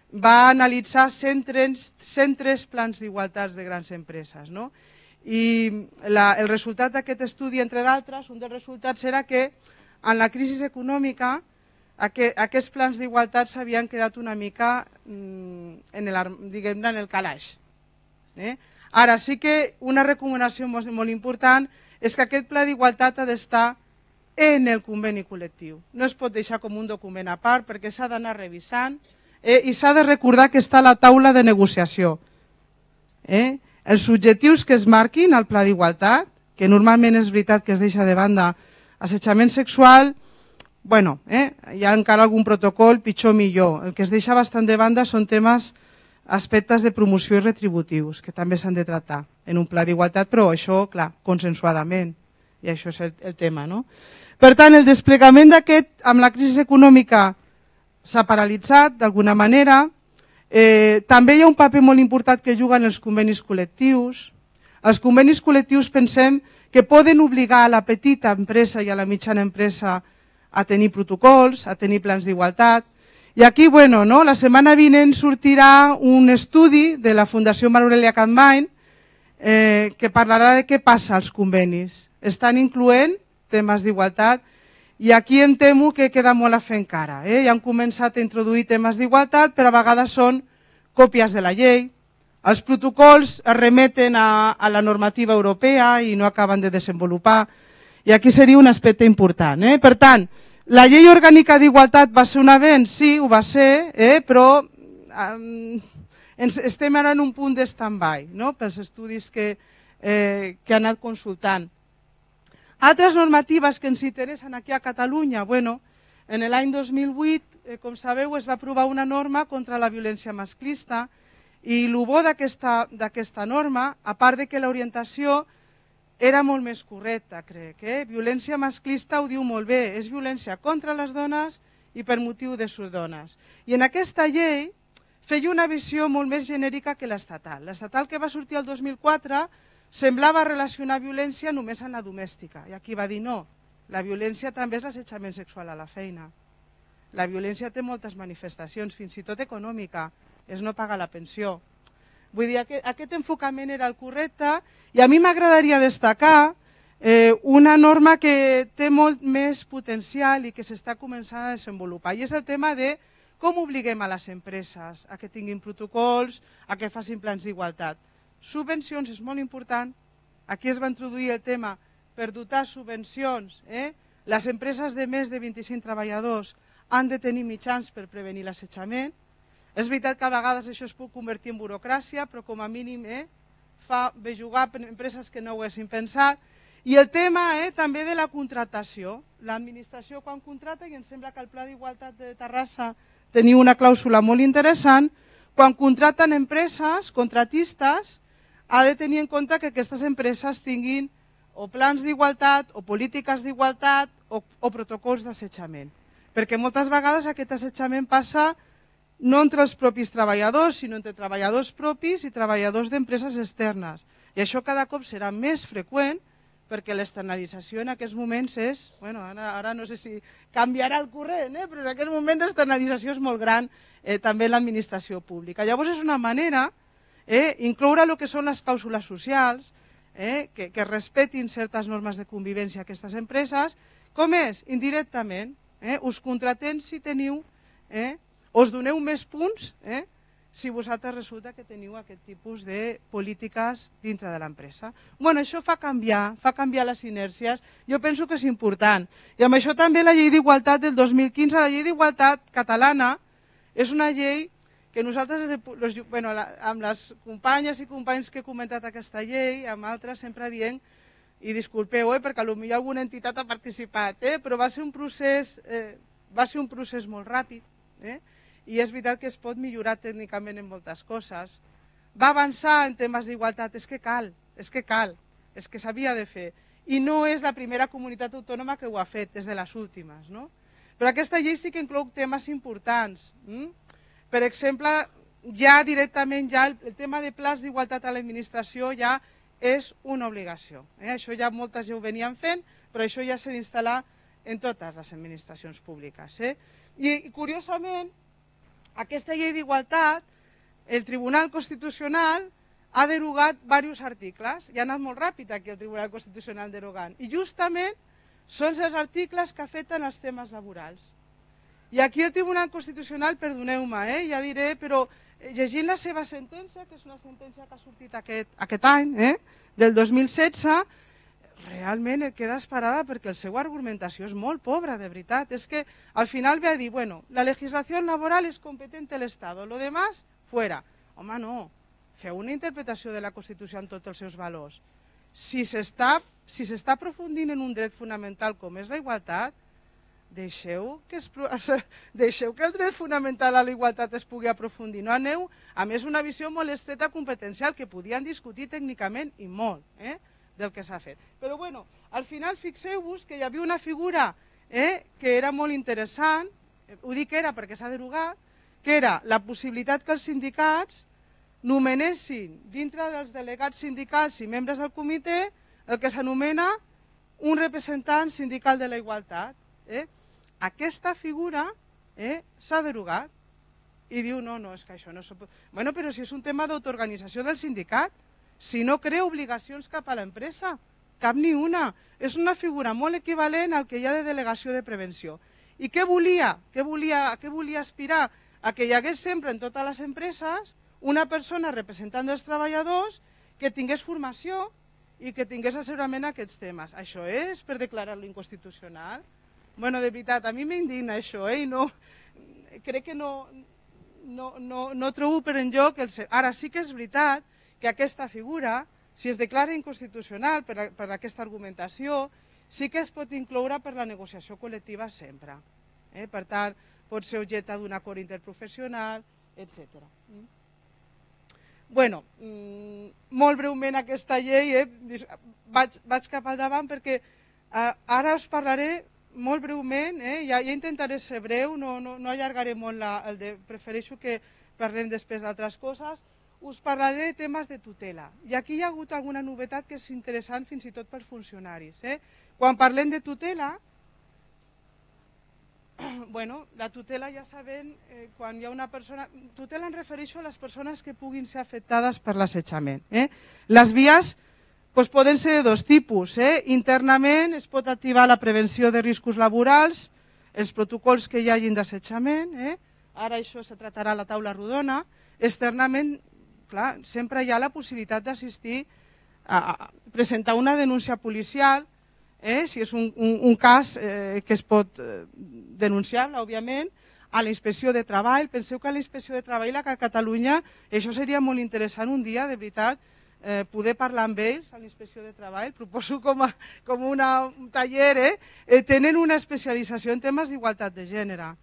va analitzar cent tres plans d'igualtats de grans empreses. No? I la, el resultat d'aquest estudi, entre d'altres, un dels resultats era que en la crisi econòmica aquests plans d'igualtat s'havien quedat una mica en el, diguem-ne, en el calaix. Eh? Ara, sí que una recomanació molt, molt important és que aquest pla d'igualtat ha d'estar en el conveni col·lectiu. No es pot deixar com un document a part perquè s'ha d'anar revisant eh? i s'ha de recordar que està a la taula de negociació. Eh? Els objectius que es marquin al pla d'igualtat, que normalment és veritat que es deixa de banda assetjament sexual, bueno, eh? hi ha encara algun protocol, pitjor millor. El que es deixa bastant de banda són temes, aspectes de promoció i retributius, que també s'han de tractar en un pla d'igualtat, però això, clar, consensuadament, i això és el, el tema. No? Per tant, el desplegament d'aquest, amb la crisi econòmica, s'ha paralitzat d'alguna manera. Eh, també hi ha un paper molt important que juguen els convenis col·lectius. Els convenis col·lectius pensem que poden obligar a la petita empresa i a la mitjana empresa a tenir protocols, a tenir plans d'igualtat. I aquí, bueno, no? la setmana vinent sortirà un estudi de la Fundació Maria Aurelia Capmany eh, que parlarà de què passa als convenis. Estan incloent temes d'igualtat i aquí em temo que queda molt a fer encara. Eh? Ja han començat a introduir temes d'igualtat, però a vegades són còpies de la llei. Els protocols es remeten a, a la normativa europea i no acaben de desenvolupar. I aquí seria un aspecte important. Eh? Per tant, la llei orgànica d'igualtat va ser un avenç? Sí, ho va ser, eh? però eh, ens estem ara en un punt de stand-by, no? pels estudis que, eh, que han anat consultant. Altres normatives que ens interessen aquí a Catalunya, bueno, en l'any dos mil vuit, eh, com sabeu, es va aprovar una norma contra la violència masclista i el bo d'aquesta norma, a part de que l'orientació era molt més correcta, crec. Eh? Violència masclista ho diu molt bé, és violència contra les dones i per motiu de sus dones. I en aquesta llei feia una visió molt més genèrica que l'estatal. L'estatal que va sortir el dos mil quatre semblava relacionar violència només en la domèstica. I aquí va dir no, la violència també és l'assetjament sexual a la feina. La violència té moltes manifestacions, fins i tot econòmica, és no pagar la pensió. Vull dir, aquest, aquest enfocament era el correcte i a mi m'agradaria destacar eh, una norma que té molt més potencial i que s'està començant a desenvolupar, i és el tema de com obliguem a les empreses a que tinguin protocols, a que facin plans d'igualtat. Subvencions és molt important. Aquí es va introduir el tema per dotar subvencions. Eh? Les empreses de més de vint-i-cinc treballadors han de tenir mitjans per prevenir l'assetjament. És veritat que a vegades això es pot convertir en burocràcia, però com a mínim eh, fa bé jugar per empreses que no ho haguessin pensat. I el tema eh, també de la contractació. L'administració quan contracta, i em sembla que el Pla d'Igualtat de Terrassa teniu una clàusula molt interessant, quan contracten empreses, contratistes, ha de tenir en compte que aquestes empreses tinguin o plans d'igualtat, o polítiques d'igualtat, o, o protocols d'assetjament. Perquè moltes vegades aquest assetjament passa no entre els propis treballadors, sinó entre treballadors propis i treballadors d'empreses externes. I això cada cop serà més freqüent, perquè l'externalització en aquests moments és, bueno, ara, ara no sé si canviarà el corrent, eh? però en aquest moment l'externalització és molt gran eh, també en l'administració pública. Llavors és una manera eh, incloure el que són les clàusules socials, eh, que, que respetin certes normes de convivència a aquestes empreses, com és? Indirectament. Eh? Us contratem si teniu, eh? us doneu més punts eh? si vosaltres resulta que teniu aquest tipus de polítiques dintre de l'empresa. Bueno, això fa canviar, fa canviar les inèrcies, jo penso que és important. I amb això també la llei d'igualtat del dos mil quinze, la llei d'igualtat catalana, és una llei que nosaltres, des de, los, bueno, la, amb les companyes i companys que he comentat aquesta llei, amb altres sempre dient, i disculpeu, eh, perquè potser alguna entitat ha participat, eh, però va ser un procés, eh, va ser un procés molt ràpid, eh, i és veritat que es pot millorar tècnicament en moltes coses. Va avançar en temes d'igualtat, és que cal, és que cal, és que s'havia de fer. I no és la primera comunitat autònoma que ho ha fet, és de les últimes. No? Però aquesta llei sí que inclou temes importants. Mm? Per exemple, ja directament ja el, el tema de plans d'igualtat a l'administració ja és una obligació. Eh? Això ja moltes ja ho venien fent, però això ja s'ha d'instal·lar en totes les administracions públiques. Eh? I, curiosament, aquesta llei d'igualtat, el Tribunal Constitucional ha derogat diversos articles, i ha anat molt ràpid aquí el Tribunal Constitucional derogant, i justament són els articles que afecten els temes laborals. I aquí el Tribunal Constitucional, perdoneu-me, eh, ja diré, però llegint la seva sentència, que és una sentència que ha sortit aquest, aquest any, eh, del dos mil setze, realment et quedes parada perquè la seva argumentació és molt pobra, de veritat. És que al final ve a dir, bueno, la legislació laboral és competent de l'Estat, lo demás, fuera. Home, no, feu una interpretació de la Constitució en tots els seus valors. Si s'està si s'està aprofundint en un dret fonamental com és la igualtat, deixeu que, es, deixeu que el dret fonamental a la igualtat es pugui aprofundir. No aneu, a més, una visió molt estreta competencial que podien discutir tècnicament i molt, eh? del que s'ha fet. Però bueno, al final fixeu-vos que hi havia una figura eh, que era molt interessant, ho dic era perquè s'ha derogat, que era la possibilitat que els sindicats nomenessin dintre dels delegats sindicals i membres del comitè el que s'anomena un representant sindical de la igualtat. Eh? Aquesta figura eh, s'ha derogat i diu no, no, és que això no s'ho pot... Bueno, però si és un tema d'autoorganització del sindicat, si no crea obligacions cap a l'empresa, cap ni una. És una figura molt equivalent al que hi ha de delegació de prevenció. I què volia? Què volia, a què volia aspirar? A que hi hagués sempre en totes les empreses una persona representant dels treballadors que tingués formació i que tingués assessorament a aquests temes. Això és per declarar-lo inconstitucional? Bueno, de veritat, a mi m'indigna això, eh? I no, crec que no, no, no, no trobo per enlloc... El... Ara sí que és veritat que aquesta figura, si es declara inconstitucional per, a, per aquesta argumentació, sí que es pot incloure per la negociació col·lectiva sempre. Eh? Per tant, pot ser objecte d'un acord interprofessional, etcètera. Bueno, mm, molt breument aquesta llei, eh? vaig, vaig cap al davant perquè eh, ara us parlaré molt breument, eh? ja, ja intentaré ser breu, no, no, no allargaré molt, la, el de, prefereixo que parlem després d'altres coses. Us parlaré de temes de tutela. I aquí hi ha hagut alguna novetat que és interessant fins i tot per funcionaris. Eh? Quan parlem de tutela, bueno, la tutela ja sabem, eh, quan hi ha una persona... Tutela em refereixo a les persones que puguin ser afectades per l'assetjament. Eh? Les vies pues, poden ser de dos tipus. Eh? Internament es pot activar la prevenció de riscos laborals, els protocols que hi hagin d'assetjament, eh? Ara això se tractarà a la taula rodona. Externament, clar, sempre hi ha la possibilitat d'assistir a, a presentar una denúncia policial, eh, si és un, un, un cas eh, que es pot eh, denunciar, òbviament, a la Inspecció de Treball. Penseu que a la Inspecció de Treball a Catalunya, això seria molt interessant un dia, de veritat, eh, poder parlar amb ells a la Inspecció de Treball, proposo com, a, com una, un taller, eh? Eh, tenen una especialització en temes d'igualtat de gènere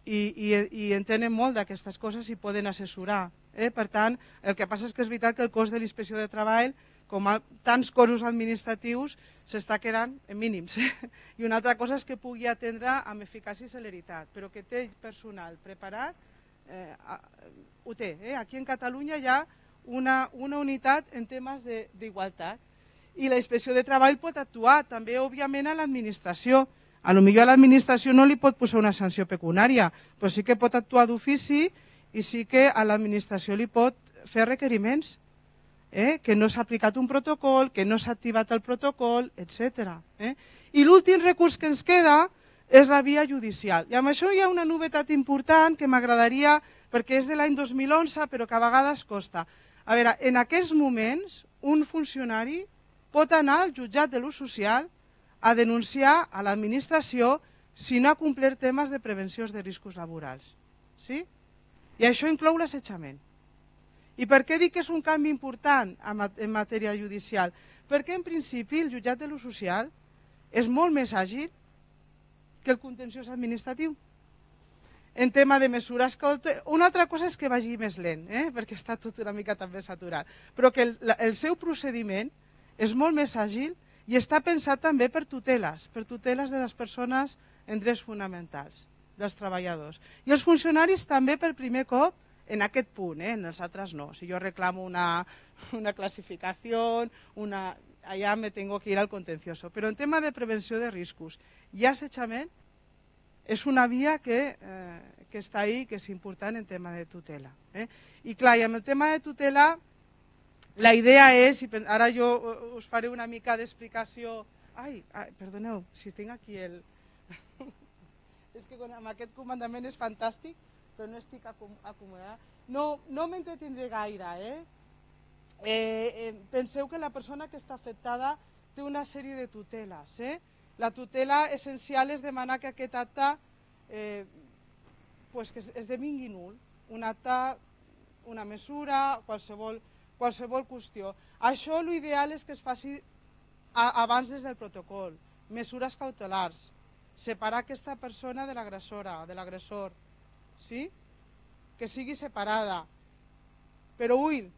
i, i, i entenen molt d'aquestes coses i poden assessorar. Eh? Per tant, el que passa és que és veritat que el cost de la Inspecció de Treball, com a tants cossos administratius, s'està quedant en mínims. I una altra cosa és que pugui atendre amb eficàcia i celeritat, però que té personal preparat, eh, ho té. Eh? Aquí en Catalunya hi ha una, una unitat en temes d'igualtat i la Inspecció de Treball pot actuar també, òbviament, a l'administració. A lo millor a l'administració no li pot posar una sanció pecuniària, però sí que pot actuar d'ofici i sí que a l'administració li pot fer requeriments. Eh, que no s'ha aplicat un protocol, que no s'ha activat el protocol, etcètera. Eh? I l'últim recurs que ens queda és la via judicial. I amb això hi ha una novetat important que m'agradaria, perquè és de l'any dos mil onze, però que a vegades costa. A veure, en aquests moments, un funcionari pot anar al jutjat de l'ús social a denunciar a l'administració si no ha complert temes de prevenció de riscos laborals. Sí? I això inclou l'assetjament. I per què dic que és un canvi important en matèria judicial? Perquè en principi el jutjat de l'ús social és molt més àgil que el contenciós administratiu. En tema de mesures... Una altra cosa és que vagi més lent, eh? perquè està tot una mica també saturat, però que el, el seu procediment és molt més àgil i està pensat també per tuteles, per tuteles de les persones en drets fonamentals, dels treballadors. I els funcionaris també per primer cop en aquest punt, eh? En els altres no. Si jo reclamo una, una classificació, una, allà me tengo que ir al contencioso. Però en tema de prevenció de riscos i assetjament és una via que, eh, que està ahí, que és important en tema de tutela. Eh? I clar, i amb el tema de tutela, la idea és, i ara jo us faré una mica d'explicació... Ai, ai, perdoneu, si tinc aquí el... és que amb aquest comandament és fantàstic, però no estic acomodada. No, no m'entretindré gaire. Eh? Eh, eh, penseu que la persona que està afectada té una sèrie de tuteles. Eh? La tutela essencial és demanar que aquest acte eh, pues que esdevingui nul. Un acte, una mesura, qualsevol, qualsevol qüestió. Això l'ideal és que es faci a, abans des del protocol. Mesures cautelars. Separar aquesta persona de l'agressora, de l'agressor. Sí? Que sigui separada, però ull,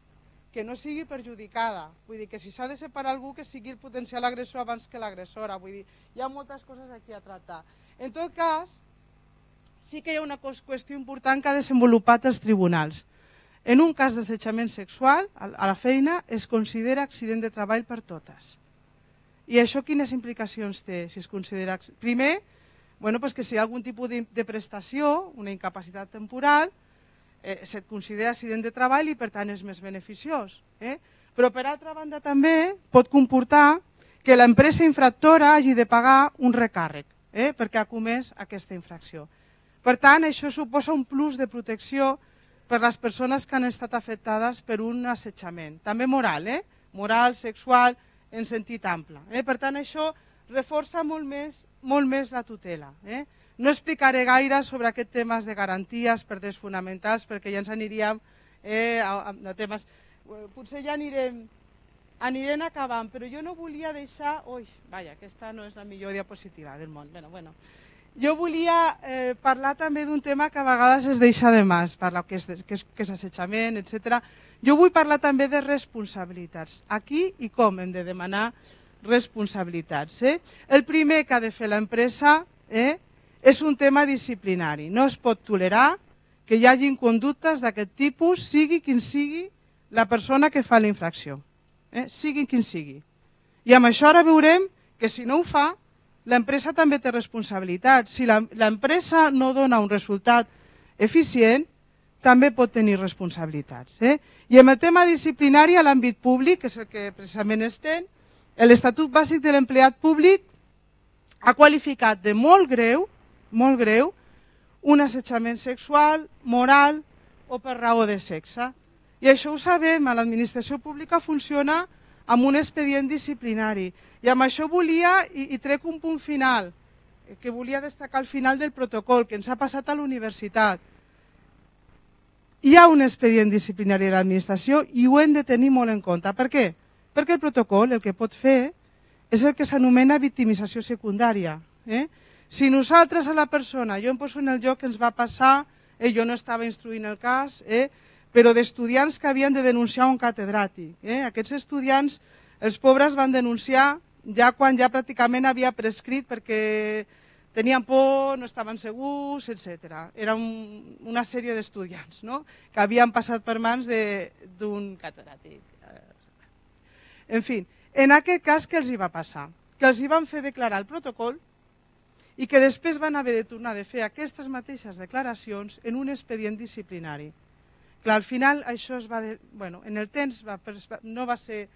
que no sigui perjudicada. Vull dir que si s'ha de separar algú, que sigui el potencial agressor abans que l'agressora. Vull dir, hi ha moltes coses aquí a tractar. En tot cas, sí que hi ha una qüestió important que ha desenvolupat els tribunals. En un cas d'assetjament sexual, a la feina, es considera accident de treball per totes. I això quines implicacions té, si es considera... Primer, bueno, pues que si hi ha algun tipus de, de prestació, una incapacitat temporal, eh, se't considera accident de treball i per tant és més beneficiós. Eh? Però per altra banda també pot comportar que l'empresa infractora hagi de pagar un recàrrec eh, perquè ha comès aquesta infracció. Per tant, això suposa un plus de protecció per les persones que han estat afectades per un assetjament. També moral, eh? moral, sexual, en sentit ample. Eh? Per tant, això reforça molt més molt més la tutela. Eh? No explicaré gaire sobre aquests temes de garanties per drets fonamentals perquè ja ens aniríem eh, a, a temes... Potser ja anirem, anirem acabant, però jo no volia deixar... Ui, vaja, aquesta no és la millor diapositiva del món. Bueno, bueno. Jo volia eh, parlar també d'un tema que a vegades es deixa de mà, parlar que és, que és, que és assetjament, etcètera. Jo vull parlar també de responsabilitats. Aquí i com hem de demanar responsabilitats. Eh? El primer que ha de fer l'empresa eh, és un tema disciplinari. No es pot tolerar que hi hagin conductes d'aquest tipus, sigui quin sigui la persona que fa la infracció. Eh? Sigui quin sigui. I amb això ara veurem que si no ho fa, l'empresa també té responsabilitat. Si l'empresa no dona un resultat eficient, també pot tenir responsabilitats. Eh? I en el tema disciplinari a l'àmbit públic, que és el que precisament estem, l'Estatut Bàsic de l'Empleat Públic ha qualificat de molt greu, molt greu, un assetjament sexual, moral o per raó de sexe. I això ho sabem, a l'administració pública funciona amb un expedient disciplinari. I amb això volia, i, i trec un punt final, que volia destacar al final del protocol, que ens ha passat a la universitat. Hi ha un expedient disciplinari de l'administració i ho hem de tenir molt en compte. Per què? Perquè el protocol el que pot fer és el que s'anomena victimització secundària. Eh? Si nosaltres a la persona, jo em poso en el lloc que ens va passar, eh, jo no estava instruint el cas, eh, però d'estudiants que havien de denunciar un catedràtic. Eh? Aquests estudiants, els pobres van denunciar ja quan ja pràcticament havia prescrit perquè tenien por, no estaven segurs, etcètera. Era un, una sèrie d'estudiants, no?, que havien passat per mans d'un catedràtic. En fi, en aquest cas, què els hi va passar? Que els hi van fer declarar el protocol i que després van haver de tornar a fer aquestes mateixes declaracions en un expedient disciplinari. Clar, al final això es va... De, bueno, en el temps va, no va ser...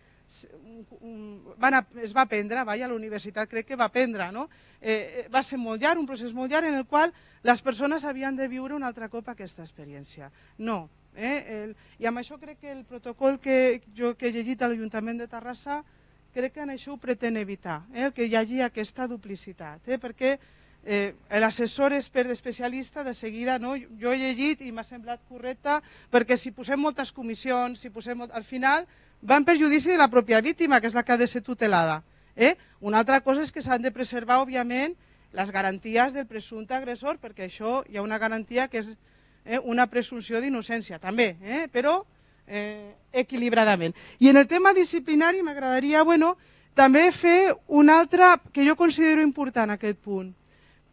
Van a, es va aprendre, vaja, a la universitat crec que va aprendre, no? Eh, va ser molt llarg, un procés molt llarg en el qual les persones havien de viure un altre cop aquesta experiència. No. Eh? El, I amb això crec que el protocol que jo que he llegit a l'Ajuntament de Terrassa crec que en això ho pretén evitar, eh? que hi hagi aquesta duplicitat, eh? perquè eh, l'assessor expert especialista de seguida, no? Jo he llegit i m'ha semblat correcte, perquè si posem moltes comissions, si posem molt... al final va en perjudici de la pròpia víctima, que és la que ha de ser tutelada. Eh? Una altra cosa és que s'han de preservar, òbviament, les garanties del presumpte agressor, perquè això hi ha una garantia que és eh, una presumpció d'innocència, també, eh? però eh, equilibradament. I en el tema disciplinari m'agradaria, bueno, també fer un altre que jo considero important, aquest punt.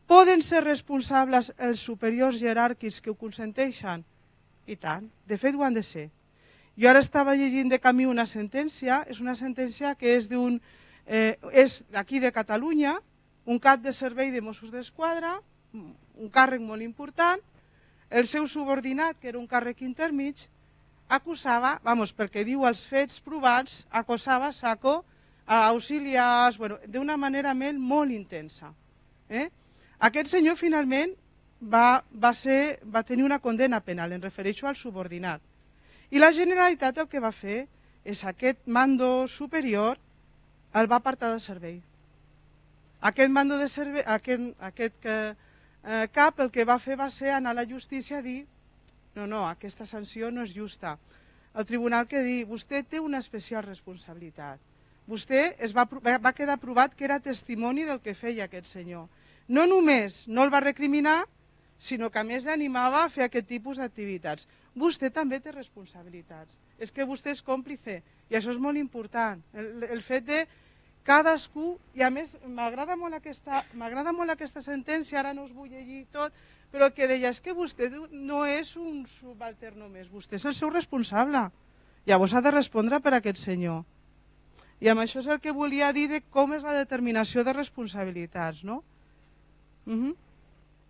Poden ser responsables els superiors jeràrquics que ho consenteixen? I tant, de fet ho han de ser. Jo ara estava llegint de camí una sentència, és una sentència que és d'un eh, és d'aquí de Catalunya, un cap de servei de Mossos d'Esquadra, un càrrec molt important, el seu subordinat, que era un càrrec intermig, acusava, vamos, perquè diu els fets provats, acosava saco a auxiliars, bueno, d'una manera molt intensa. Eh? Aquest senyor finalment va, va, ser, va tenir una condena penal, em refereixo al subordinat. I la Generalitat el que va fer és aquest mando superior el va apartar del servei. Aquest mando de servei, aquest, aquest eh, cap el que va fer va ser anar a la justícia a dir no, no, aquesta sanció no és justa. El tribunal que dir, vostè té una especial responsabilitat. Vostè es va, va quedar provat que era testimoni del que feia aquest senyor. No només no el va recriminar, sinó que a més animava a fer aquest tipus d'activitats. Vostè també té responsabilitats. És que vostè és còmplice i això és molt important. El, el fet de cadascú, i a més m'agrada molt, m'agrada molt aquesta sentència, ara no us vull llegir tot, però el que deia és que vostè no és un subaltern només, vostè és el seu responsable. Llavors ha de respondre per aquest senyor. I amb això és el que volia dir de com és la determinació de responsabilitats, no? Uh-huh.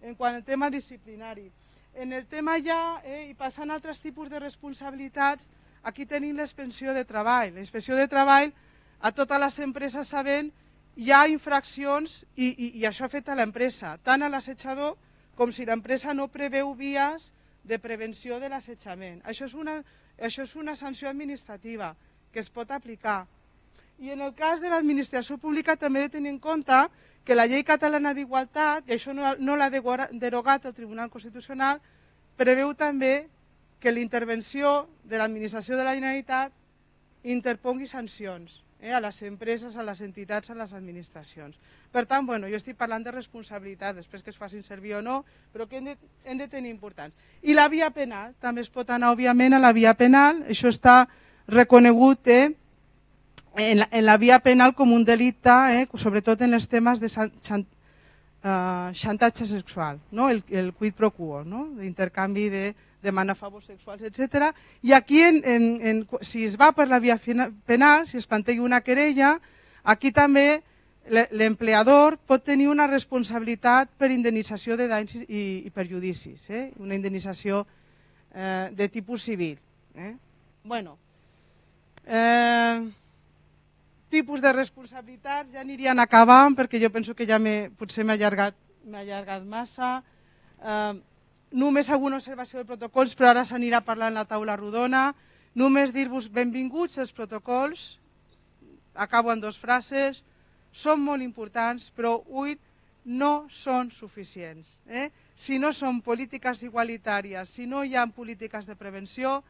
En quant al tema disciplinari. En el tema ja, eh, i passant a altres tipus de responsabilitats, aquí tenim l'inspecció de treball. La inspecció de treball, a totes les empreses sabent, hi ha infraccions i, i, i això afecta a l'empresa, tant a l'assetjador com si l'empresa no preveu vies de prevenció de l'assetjament. Això és una, això és una sanció administrativa que es pot aplicar. I en el cas de l'administració pública també he de tenir en compte que la llei catalana d'igualtat, i això no, no l'ha derogat el Tribunal Constitucional, preveu també que l'intervenció de l'administració de la Generalitat interpongui sancions eh, a les empreses, a les entitats, a les administracions. Per tant, bueno, jo estic parlant de responsabilitat, després que es facin servir o no, però que hem de, hem de tenir importants. I la via penal, també es pot anar, òbviament, a la via penal, això està reconegut eh, En la, en la via penal com un delicte, eh, sobretot en els temes de xant, uh, xantatge sexual, no? el, el quid pro quo, no? L'intercanvi de demanar favors sexuals, etcètera. I aquí, en, en, en, si es va per la via penal, si es planteja una querella, aquí també l'empleador pot tenir una responsabilitat per indemnització de danys i, i perjudicis, eh? Una indemnització eh, de tipus civil. Eh? Bueno, eh, tipus de responsabilitats ja anirien acabant perquè jo penso que ja potser m'he allargat, allargat massa. Eh, només alguna observació de protocols, però ara s'anirà parlant la taula rodona. Només dir-vos benvinguts als protocols. Acabo en dues frases. Són molt importants, però avui no són suficients. Eh? Si no són polítiques igualitàries, si no hi ha polítiques de prevenció,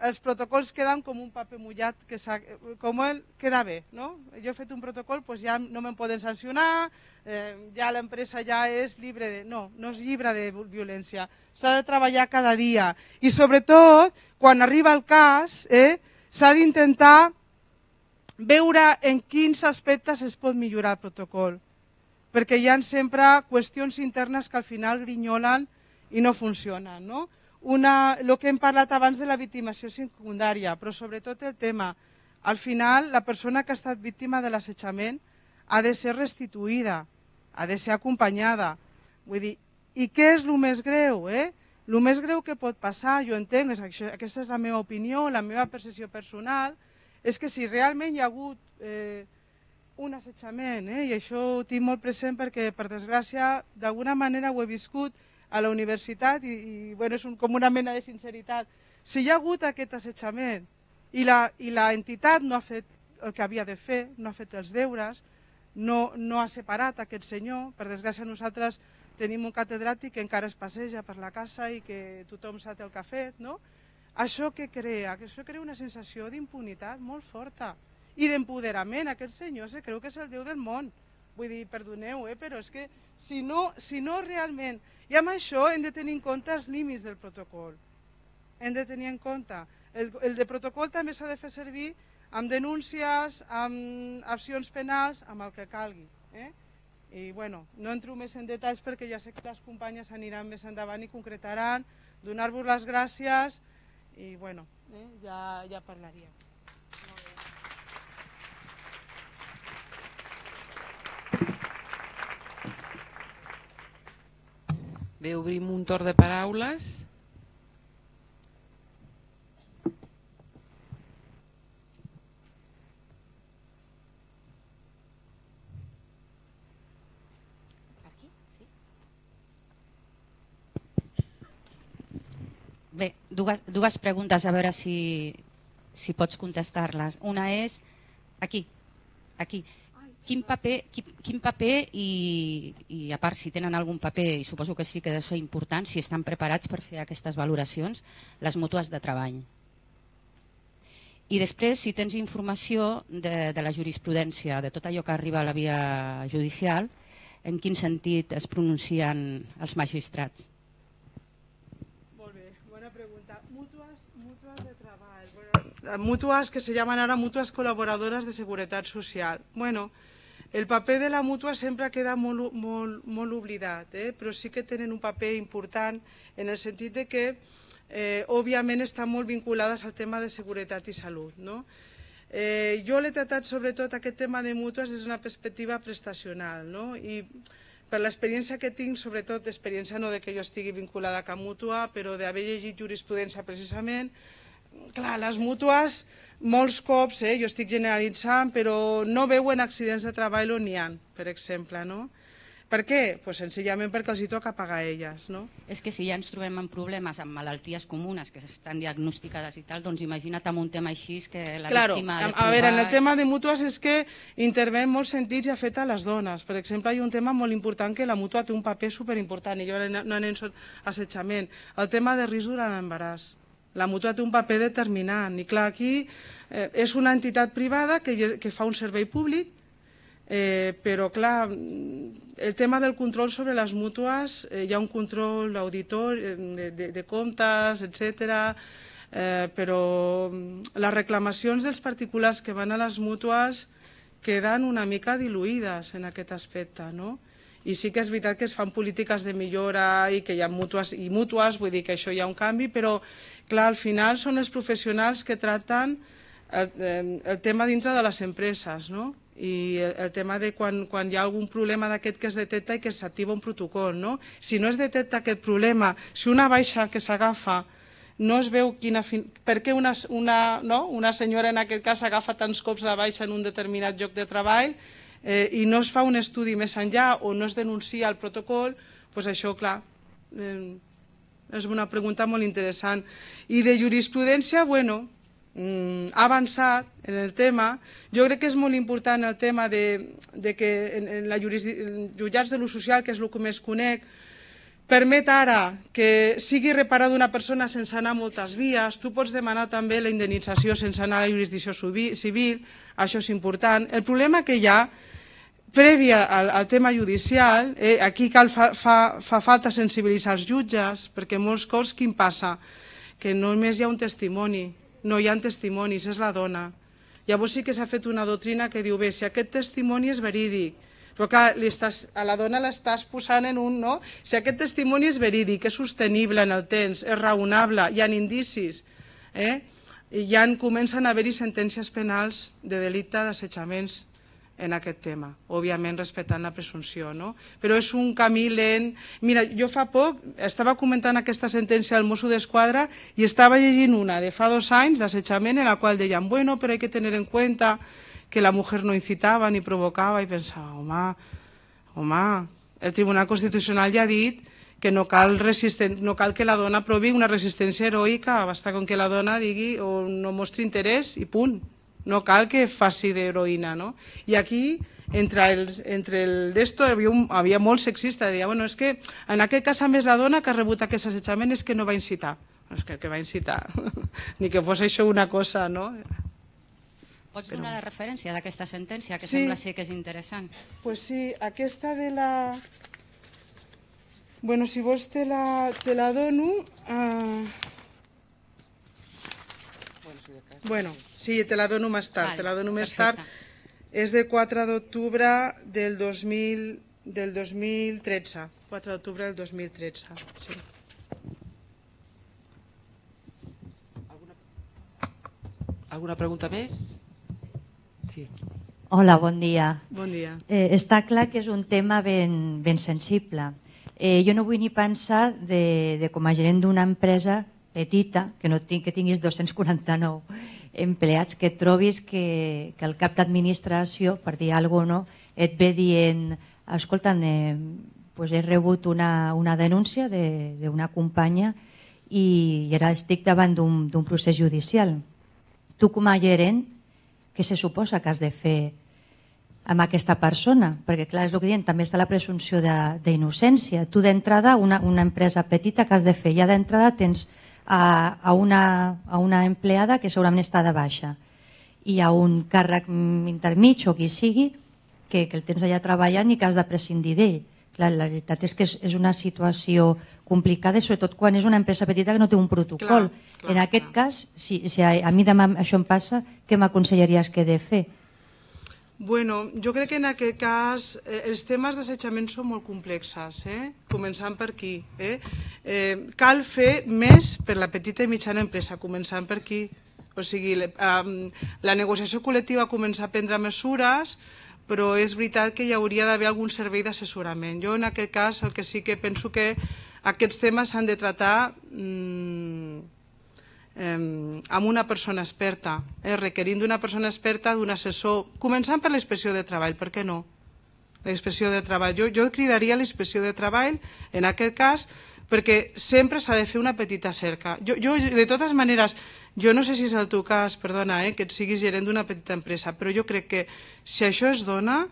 els protocols queden com un paper mullat, que com el queda bé. No? Jo he fet un protocol, doncs ja no me'n poden sancionar, eh, ja l'empresa ja és llibre de... No, no és llibre de violència. S'ha de treballar cada dia. I sobretot, quan arriba el cas, eh, s'ha d'intentar veure en quins aspectes es pot millorar el protocol. Perquè hi ha sempre qüestions internes que al final grinyolen i no funcionen. No? Una, el que hem parlat abans de la victimació secundària, però sobretot el tema, al final la persona que ha estat víctima de l'assetjament ha de ser restituïda, ha de ser acompanyada. Vull dir, i què és el més greu? Eh? El més greu que pot passar, jo entenc, aquesta és la meva opinió, la meva percepció personal, és que si realment hi ha hagut eh, un assetjament, eh, i això ho tinc molt present perquè per desgràcia d'alguna manera ho he viscut a la universitat i, i bueno, és un, com una mena de sinceritat. Si hi ha hagut aquest assetjament i la, i la entitat no ha fet el que havia de fer, no ha fet els deures, no, no ha separat aquest senyor, per desgràcia nosaltres tenim un catedràtic que encara es passeja per la casa i que tothom sap el que ha fet, no? Això què crea? Això crea una sensació d'impunitat molt forta i d'empoderament. Aquest senyor se creu que és el Déu del món. Vull dir, perdoneu, eh? Però és que si no, si no realment... I amb això hem de tenir en compte els límits del protocol. Hem de tenir en compte. El, el de protocol també s'ha de fer servir amb denúncies, amb accions penals, amb el que calgui. Eh? I bueno, no entro més en detalls perquè ja sé que les companyes aniran més endavant i concretaran, donar-vos les gràcies i bueno, eh? ja, ja parlaríem. Bé, obrim un torn de paraules. Aquí? Sí. Bé, dues, dues preguntes, a veure si, si pots contestar-les. Una és, aquí, aquí. Quin paper, quin, quin paper i, i a part si tenen algun paper, i suposo que sí que és important, si estan preparats per fer aquestes valoracions, les mútues de treball. I després, si tens informació de, de la jurisprudència, de tot allò que arriba a la via judicial, en quin sentit es pronuncien els magistrats? Molt bé, bona pregunta. Mútues, mútues de treball. Bueno, mútues que se llaman ahora mútues colaboradoras de seguretat social. Bueno, el paper de la mútua sempre queda molt, molt, molt oblidat, eh? Però sí que tenen un paper important en el sentit de que, eh, òbviament, estan molt vinculades al tema de seguretat i salut. No? Eh, jo l'he tratat sobretot aquest tema de mútues des d'una perspectiva prestacional, no? I per l'experiència que tinc, sobretot experiència no de que jo estigui vinculada a cap mútua, però d'haver llegit jurisprudència precisament, clar, les mútues, molts cops, eh, jo estic generalitzant, però no veuen accidents de treball on n'hi ha, per exemple. No? Per què? Pues senzillament perquè els hi toca pagar a elles. No? És que si ja ens trobem amb problemes, amb malalties comunes que estan diagnosticades i tal, doncs imagina't amb un tema així que la claro, víctima ha de provar... A veure, en el tema de mútues és que intervé en molts sentits i afecta a les dones. Per exemple, hi ha un tema molt important que la mútua té un paper superimportant i jo no anem a assetjament. El tema de risc durant l'embaràs. La mútua té un paper determinant i clar, aquí eh, és una entitat privada que, que fa un servei públic, eh, però clar, el tema del control sobre les mútues, eh, hi ha un control auditor de, de, de comptes, etcètera, eh, però les reclamacions dels particulars que van a les mútues queden una mica diluïdes en aquest aspecte, no? I sí que és veritat que es fan polítiques de millora i que hi ha mútues i mútues, vull dir que això hi ha un canvi, però clar, al final són els professionals que tracten el, el tema dintre de les empreses, no? i el, el tema de quan, quan hi ha algun problema d'aquest que es detecta i que s'activa un protocol, no? Si no es detecta aquest problema, si una baixa que s'agafa no es veu quina fin... per què una, una, no? una senyora en aquest cas agafa tants cops la baixa en un determinat lloc de treball eh, i no es fa un estudi més enllà o no es denuncia el protocol, doncs això, clar, eh, és una pregunta molt interessant. I de jurisprudència, bueno, ha avançat en el tema. Jo crec que és molt important el tema de, de que en, en la jutjats de l'ús social, que és el que més conec, permet ara que sigui reparada una persona sense anar a moltes vies. Tu pots demanar també la indemnització sense anar a la jurisdicció civil, això és important. El problema que hi ha, prèvia al, al tema judicial, eh, aquí cal fa, fa, fa falta sensibilitzar els jutges, perquè molts cops quin passa? Que només hi ha un testimoni, no hi ha testimonis, és la dona. Llavors sí que s'ha fet una doctrina que diu, bé, si aquest testimoni és verídic, però clar, li estàs, a la dona l'estàs posant en un, no? Si aquest testimoni és verídic, és sostenible en el temps, és raonable, hi ha indicis, eh? I ja comencen a haver-hi sentències penals de delicte d'assetjaments en aquest tema, òbviament respectant la presumpció, no? Però és un camí lent. Mira, jo fa poc estava comentant aquesta sentència del Mosso d'Esquadra i estava llegint una de fa dos anys d'assetjament en la qual deien, bueno, però hay que tener en cuenta que la mujer no incitava ni provocava, i pensava, home, home, el Tribunal Constitucional ja ha dit que no cal, no cal que la dona provi una resistència heroica, basta con que la dona digui o no mostri interès i punt. No cal que faci d'heroïna, no? I aquí, entre el, entre el d'esto, havia, un, havia molt sexista, deia, bueno, és que en aquest cas, a més, la dona que ha rebut aquest assetjament és que no va incitar. És que, que va incitar, ni que fos això una cosa, no? Pots donar la referència d'aquesta sentència, que sí, sembla ser que és interessant? Doncs pues sí, aquesta de la... Bueno, si vols te la, te la dono... Uh... Bueno, sí, te la dono més tard, vale, te la dono més perfecte. Tard. És del quatre d'octubre del dos mil del dos mil tretze. quatre d'octubre del dos mil tretze, sí. Alguna, alguna pregunta més? Sí. Hola, bon dia. Bon dia. Eh, està clar que és un tema ben, ben sensible. Eh, jo no vull ni pensar de, de com a gerent d'una empresa petita, que no tinc, que tinguis dos-cents quaranta-nou empleats, que trobis que, que el cap d'administració, per dir alguna cosa, no, et ve dient, escolta, eh, pues he rebut una, una denúncia d'una companya i, i ara estic davant d'un procés judicial. Tu com a gerent, què se suposa que has de fer amb aquesta persona? Perquè clar, és el que diuen, també està la presumpció d'innocència. Tu d'entrada, una, una empresa petita, que has de fer? Ja d'entrada tens a, a, una, a una empleada que segurament està de baixa i a un càrrec intermig o qui sigui que, que el tens allà treballant i que has de prescindir d'ell. Clar, la veritat és que és, és una situació complicada i sobretot quan és una empresa petita que no té un protocol. Clar, clar, en aquest clar. cas, si, si a, a mi demà això em passa, què m'aconsellaries que he de fer? Bueno, jo crec que en aquest cas eh, els temes d'assetjament són molt complexes, eh? Començant per aquí. Eh? Eh, cal fer més per la petita i mitjana empresa, començant per aquí. O sigui, le, um, la negociació col·lectiva comença a prendre mesures, però és veritat que hi hauria d'haver algun servei d'assessorament. Jo en aquest cas el que sí que penso que aquests temes s'han de tractar mmm, Eh, amb una persona experta, eh, requerint d'una persona experta, d'un assessor, començant per la inspecció de treball, per què no? La inspecció de treball. Jo, jo cridaria la inspecció de treball, en aquest cas, perquè sempre s'ha de fer una petita cerca. Jo, jo, de totes maneres, jo no sé si és el teu cas, perdona, eh, que et siguis gerent d'una petita empresa, però jo crec que si això es dona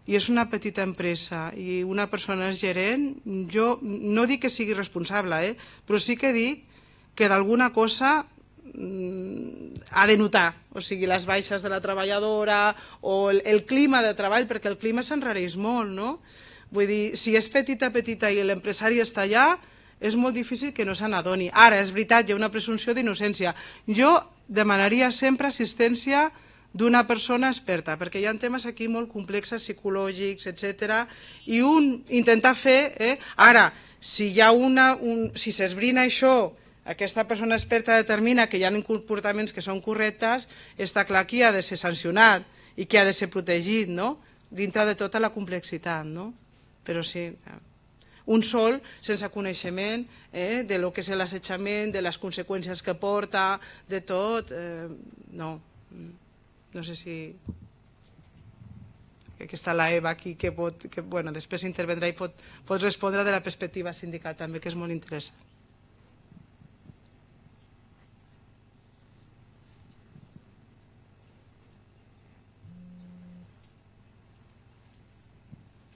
i és una petita empresa i una persona és gerent, jo no dic que sigui responsable, eh, però sí que dic que d'alguna cosa mmm, ha de notar, o sigui, les baixes de la treballadora o el, el clima de treball, perquè el clima s'enrareix molt, no? Vull dir, si és petita, petita i l'empresari està allà, és molt difícil que no se n'adoni. Ara, és veritat, hi ha una presumpció d'innocència. Jo demanaria sempre assistència d'una persona experta, perquè hi ha temes aquí molt complexes, psicològics, etcètera, i un intentar fer... Eh? Ara, si hi ha una... Un, si s'esbrina això, aquesta persona experta determina que hi ha comportaments que són correctes, està clar que ha de ser sancionat i que ha de ser protegit, no? Dintre de tota la complexitat, no? Però sí, un sol sense coneixement eh, de lo que és l'assetjament, de les conseqüències que porta, de tot, eh, no. No sé si... que està la Eva aquí, que, pot, que bueno, després intervendrà i pot, pot respondre de la perspectiva sindical també, que és molt interessant.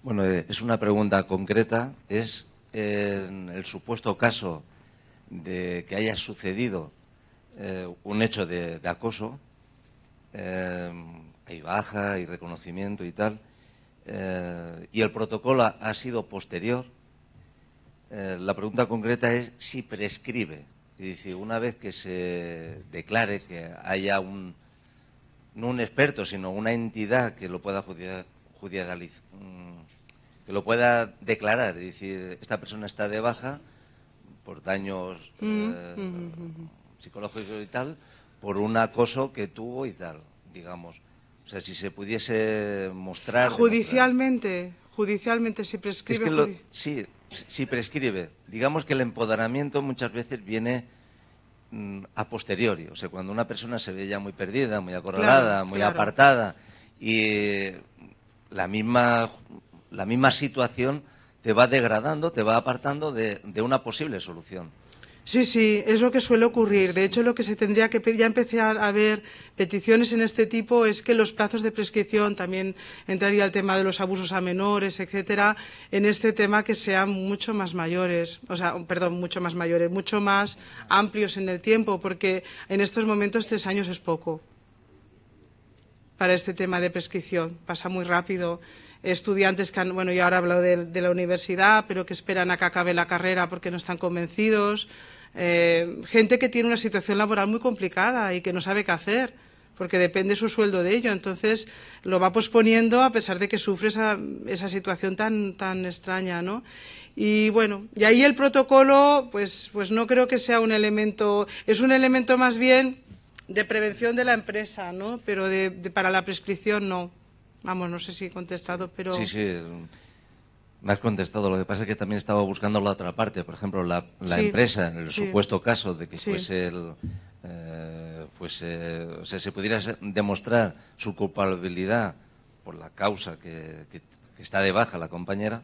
Bueno, es una pregunta concreta. Es en el supuesto caso de que haya sucedido eh, un hecho de, de acoso, eh, hay baja y reconocimiento y tal, eh, y el protocolo ha, ha sido posterior. Eh, la pregunta concreta es si prescribe. Es decir, una vez que se declare que haya un, no un experto, sino una entidad que lo pueda judicializar, que lo pueda declarar, es decir, esta persona está de baja por daños eh, mm-hmm. psicológicos y tal, por un acoso que tuvo y tal, digamos. O sea, si se pudiese mostrar... Judicialmente, demostrar. judicialmente si prescribe... Es que lo, sí, si prescribe. Digamos que el empoderamiento muchas veces viene mm, a posteriori. O sea, cuando una persona se ve ya muy perdida, muy acorralada, claro, muy claro. apartada, y la misma... la misma situación te va degradando, te va apartando de, de una posible solución. Sí, sí, es lo que suele ocurrir. De hecho, lo que se tendría que pedir, ya empezar a ver peticiones en este tipo, es que los plazos de prescripción, también entraría el tema de los abusos a menores, etcétera, en este tema que sean mucho más mayores, o sea, perdón, mucho más mayores, mucho más amplios en el tiempo, porque en estos momentos tres años es poco para este tema de prescripción, pasa muy rápido. Estudiantes que han, bueno, yo ahora hablo de, de la universidad, pero que esperan a que acabe la carrera porque no están convencidos, eh, gente que tiene una situación laboral muy complicada y que no sabe qué hacer, porque depende su sueldo de ello, entonces lo va posponiendo a pesar de que sufre esa, esa situación tan, tan extraña, ¿no? Y bueno, y ahí el protocolo, pues, pues no creo que sea un elemento, es un elemento más bien de prevención de la empresa, ¿no? Pero de, de, para la prescripción no. Vamos, no sé si he contestado, pero... Sí, sí, me has contestado. Lo que pasa es que también estaba buscando la otra parte. Por ejemplo, la, la sí, empresa, en el sí. supuesto caso de que sí. fuese el... Eh, fuese, o sea, se pudiera demostrar su culpabilidad por la causa que, que, que está de baja la compañera.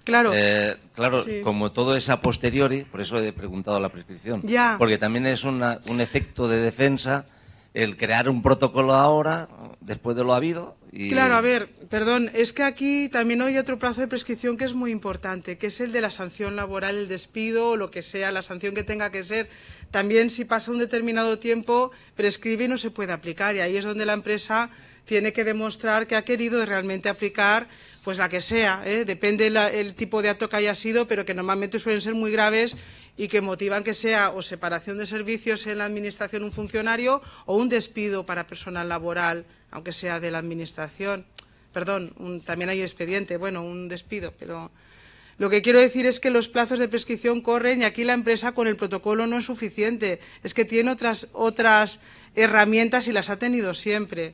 Claro, eh, claro sí. como todo es a posteriori, por eso he preguntado la prescripción. Ya. Porque también es una, un efecto de defensa el crear un protocolo ahora, después de lo habido. Y... Claro, a ver, perdón, es que aquí también hay otro plazo de prescripción que es muy importante, que es el de la sanción laboral, el despido o lo que sea, la sanción que tenga que ser. También si pasa un determinado tiempo, prescribe y no se puede aplicar. Y ahí es donde la empresa tiene que demostrar que ha querido realmente aplicar pues la que sea, ¿eh? Depende la, el tipo de acto que haya sido, pero que normalmente suelen ser muy graves y que motivan que sea o separación de servicios en la administración un funcionario o un despido para personal laboral, aunque sea de la administración. Perdón, un, también hay expediente, bueno, un despido, pero lo que quiero decir es que los plazos de prescripción corren y aquí la empresa con el protocolo no es suficiente, es que tiene otras, otras herramientas y las ha tenido siempre.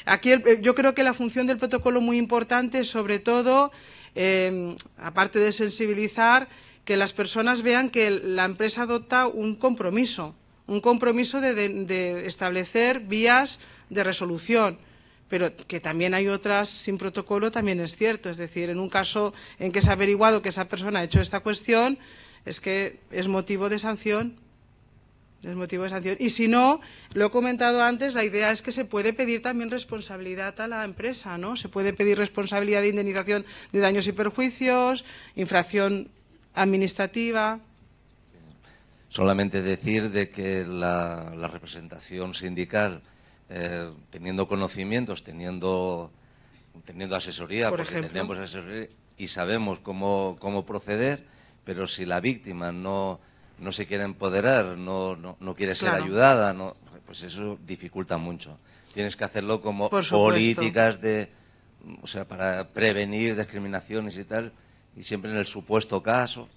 Aquí el, yo creo que la función del protocolo muy importante es sobre todo, eh, aparte de sensibilizar, que las personas vean que la empresa adopta un compromiso, un compromiso de, de, de establecer vías de resolución, pero que también hay otras sin protocolo, también es cierto. Es decir, en un caso en que se ha averiguado que esa persona ha hecho esta cuestión, es que es motivo de sanción. Es motivo de sanción. Y si no, lo he comentado antes, la idea es que se puede pedir también responsabilidad a la empresa, ¿no? Se puede pedir responsabilidad de indemnización de daños y perjuicios, infracción administrativa. Solamente decir de que la, la representación sindical, eh, teniendo conocimientos, teniendo, teniendo asesoría, Por porque ejemplo. tenemos asesoría y sabemos cómo, cómo proceder, pero si la víctima no, no se quiere empoderar, no, no, no quiere ser Claro. ayudada, no, pues eso dificulta mucho. Tienes que hacerlo como Por supuesto. políticas de, o sea, para prevenir discriminaciones y tal, y siempre en el supuesto caso.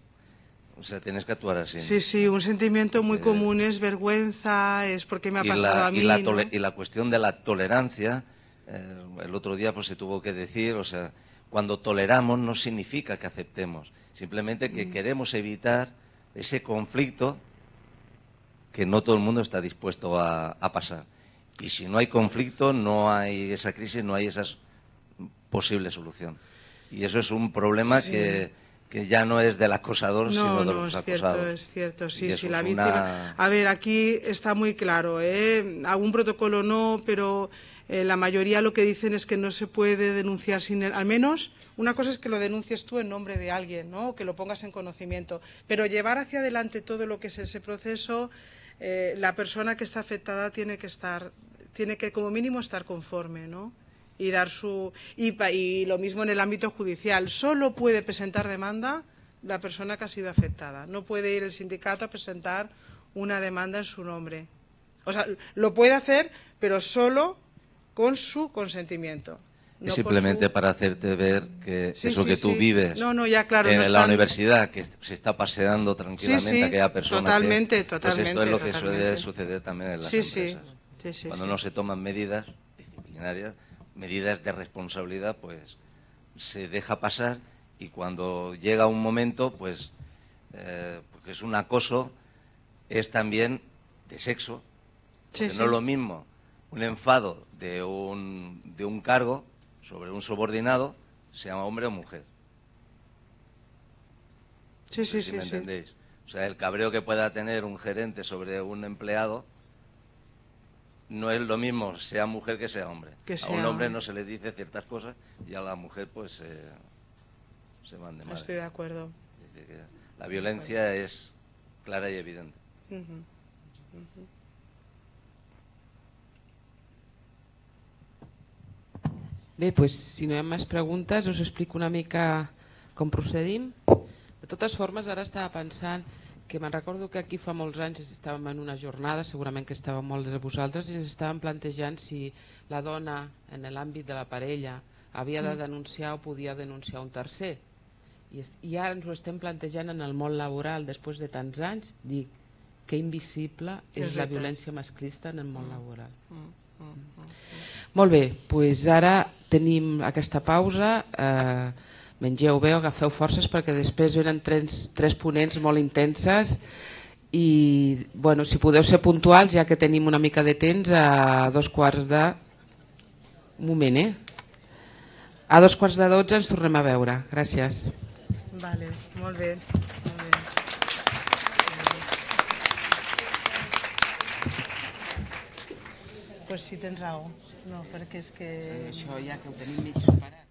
O sea, tienes que actuar así. Sí, sí, un sentimiento muy común es vergüenza, es porque me ha y pasado la, a mí. y la, ¿no? tole- y la cuestión de la tolerancia, eh, el otro día pues se tuvo que decir, o sea, cuando toleramos no significa que aceptemos, simplemente que queremos evitar ese conflicto que no todo el mundo está dispuesto a, a pasar. Y si no hay conflicto, no hay esa crisis, no hay esa posible solución. Y eso es un problema sí. que, que ya no es del acosador, no, sino de no, los es acosados. Cierto, es cierto, sí, sí, la una... víctima... A ver, aquí está muy claro, ¿eh? Algún protocolo no, pero eh, la mayoría lo que dicen es que no se puede denunciar sin el... Al menos, una cosa es que lo denuncies tú en nombre de alguien, ¿no? Que lo pongas en conocimiento. Pero llevar hacia adelante todo lo que es ese proceso, eh, la persona que está afectada tiene que estar... tiene que como mínimo estar conforme, ¿no? Y dar su y, y lo mismo en el ámbito judicial. Solo puede presentar demanda la persona que ha sido afectada. No puede ir el sindicato a presentar una demanda en su nombre. O sea, lo puede hacer, pero solo con su consentimiento. No es simplemente su... para hacerte ver que sí, eso sí, que tú sí. vives no, no, ya, claro, en no la están... universidad, que se está paseando tranquilamente sí, sí, aquella persona. Totalmente, que, totalmente. Pues esto es lo totalmente. que suele suceder también en las sí, empresas. Sí. Sí, sí, Cuando sí. no se toman medidas disciplinarias, medidas de responsabilidad, pues se deja pasar, y cuando llega un momento, pues, eh, porque es un acoso, es también de sexo, porque sí, no sí. es lo mismo un enfado de un, de un cargo sobre un subordinado, sea hombre o mujer. Sí, no sí, sé sí. si me sí. entendéis. O sea, el cabreo que pueda tener un gerente sobre un empleado no es lo mismo sea mujer que sea hombre. Que sea a un hombre hombre. no se le dice ciertas cosas y a la mujer pues eh, se van de madre. Estoy de acuerdo. Es decir, que la violencia es clara y evidente. Uh-huh. Uh-huh. Bé, doncs, si no hi ha més preguntes, us explico una mica com procedim. De totes formes, ara estava pensant que me'n recordo que aquí fa molts anys estàvem en una jornada, segurament que estàvem molts de vosaltres, i ens estàvem plantejant si la dona en l'àmbit de la parella havia de denunciar o podia denunciar un tercer. I, i ara ens ho estem plantejant en el món laboral després de tants anys. Dic, que invisible és, és la violència masclista en el món laboral. Mm, mm, mm, mm. Molt bé, doncs ara tenim aquesta pausa. Eh, mengeu bé, agafeu forces perquè després venen tres, tres ponents molt intenses i bueno, si podeu ser puntuals, ja que tenim una mica de temps, a dos quarts de... Un moment, eh? A dos quarts de dotze ens tornem a veure. Gràcies. Vale, molt bé. Molt bé. Pues sí, tens raó. No, perquè és que... Això ja que ho tenim mig superat.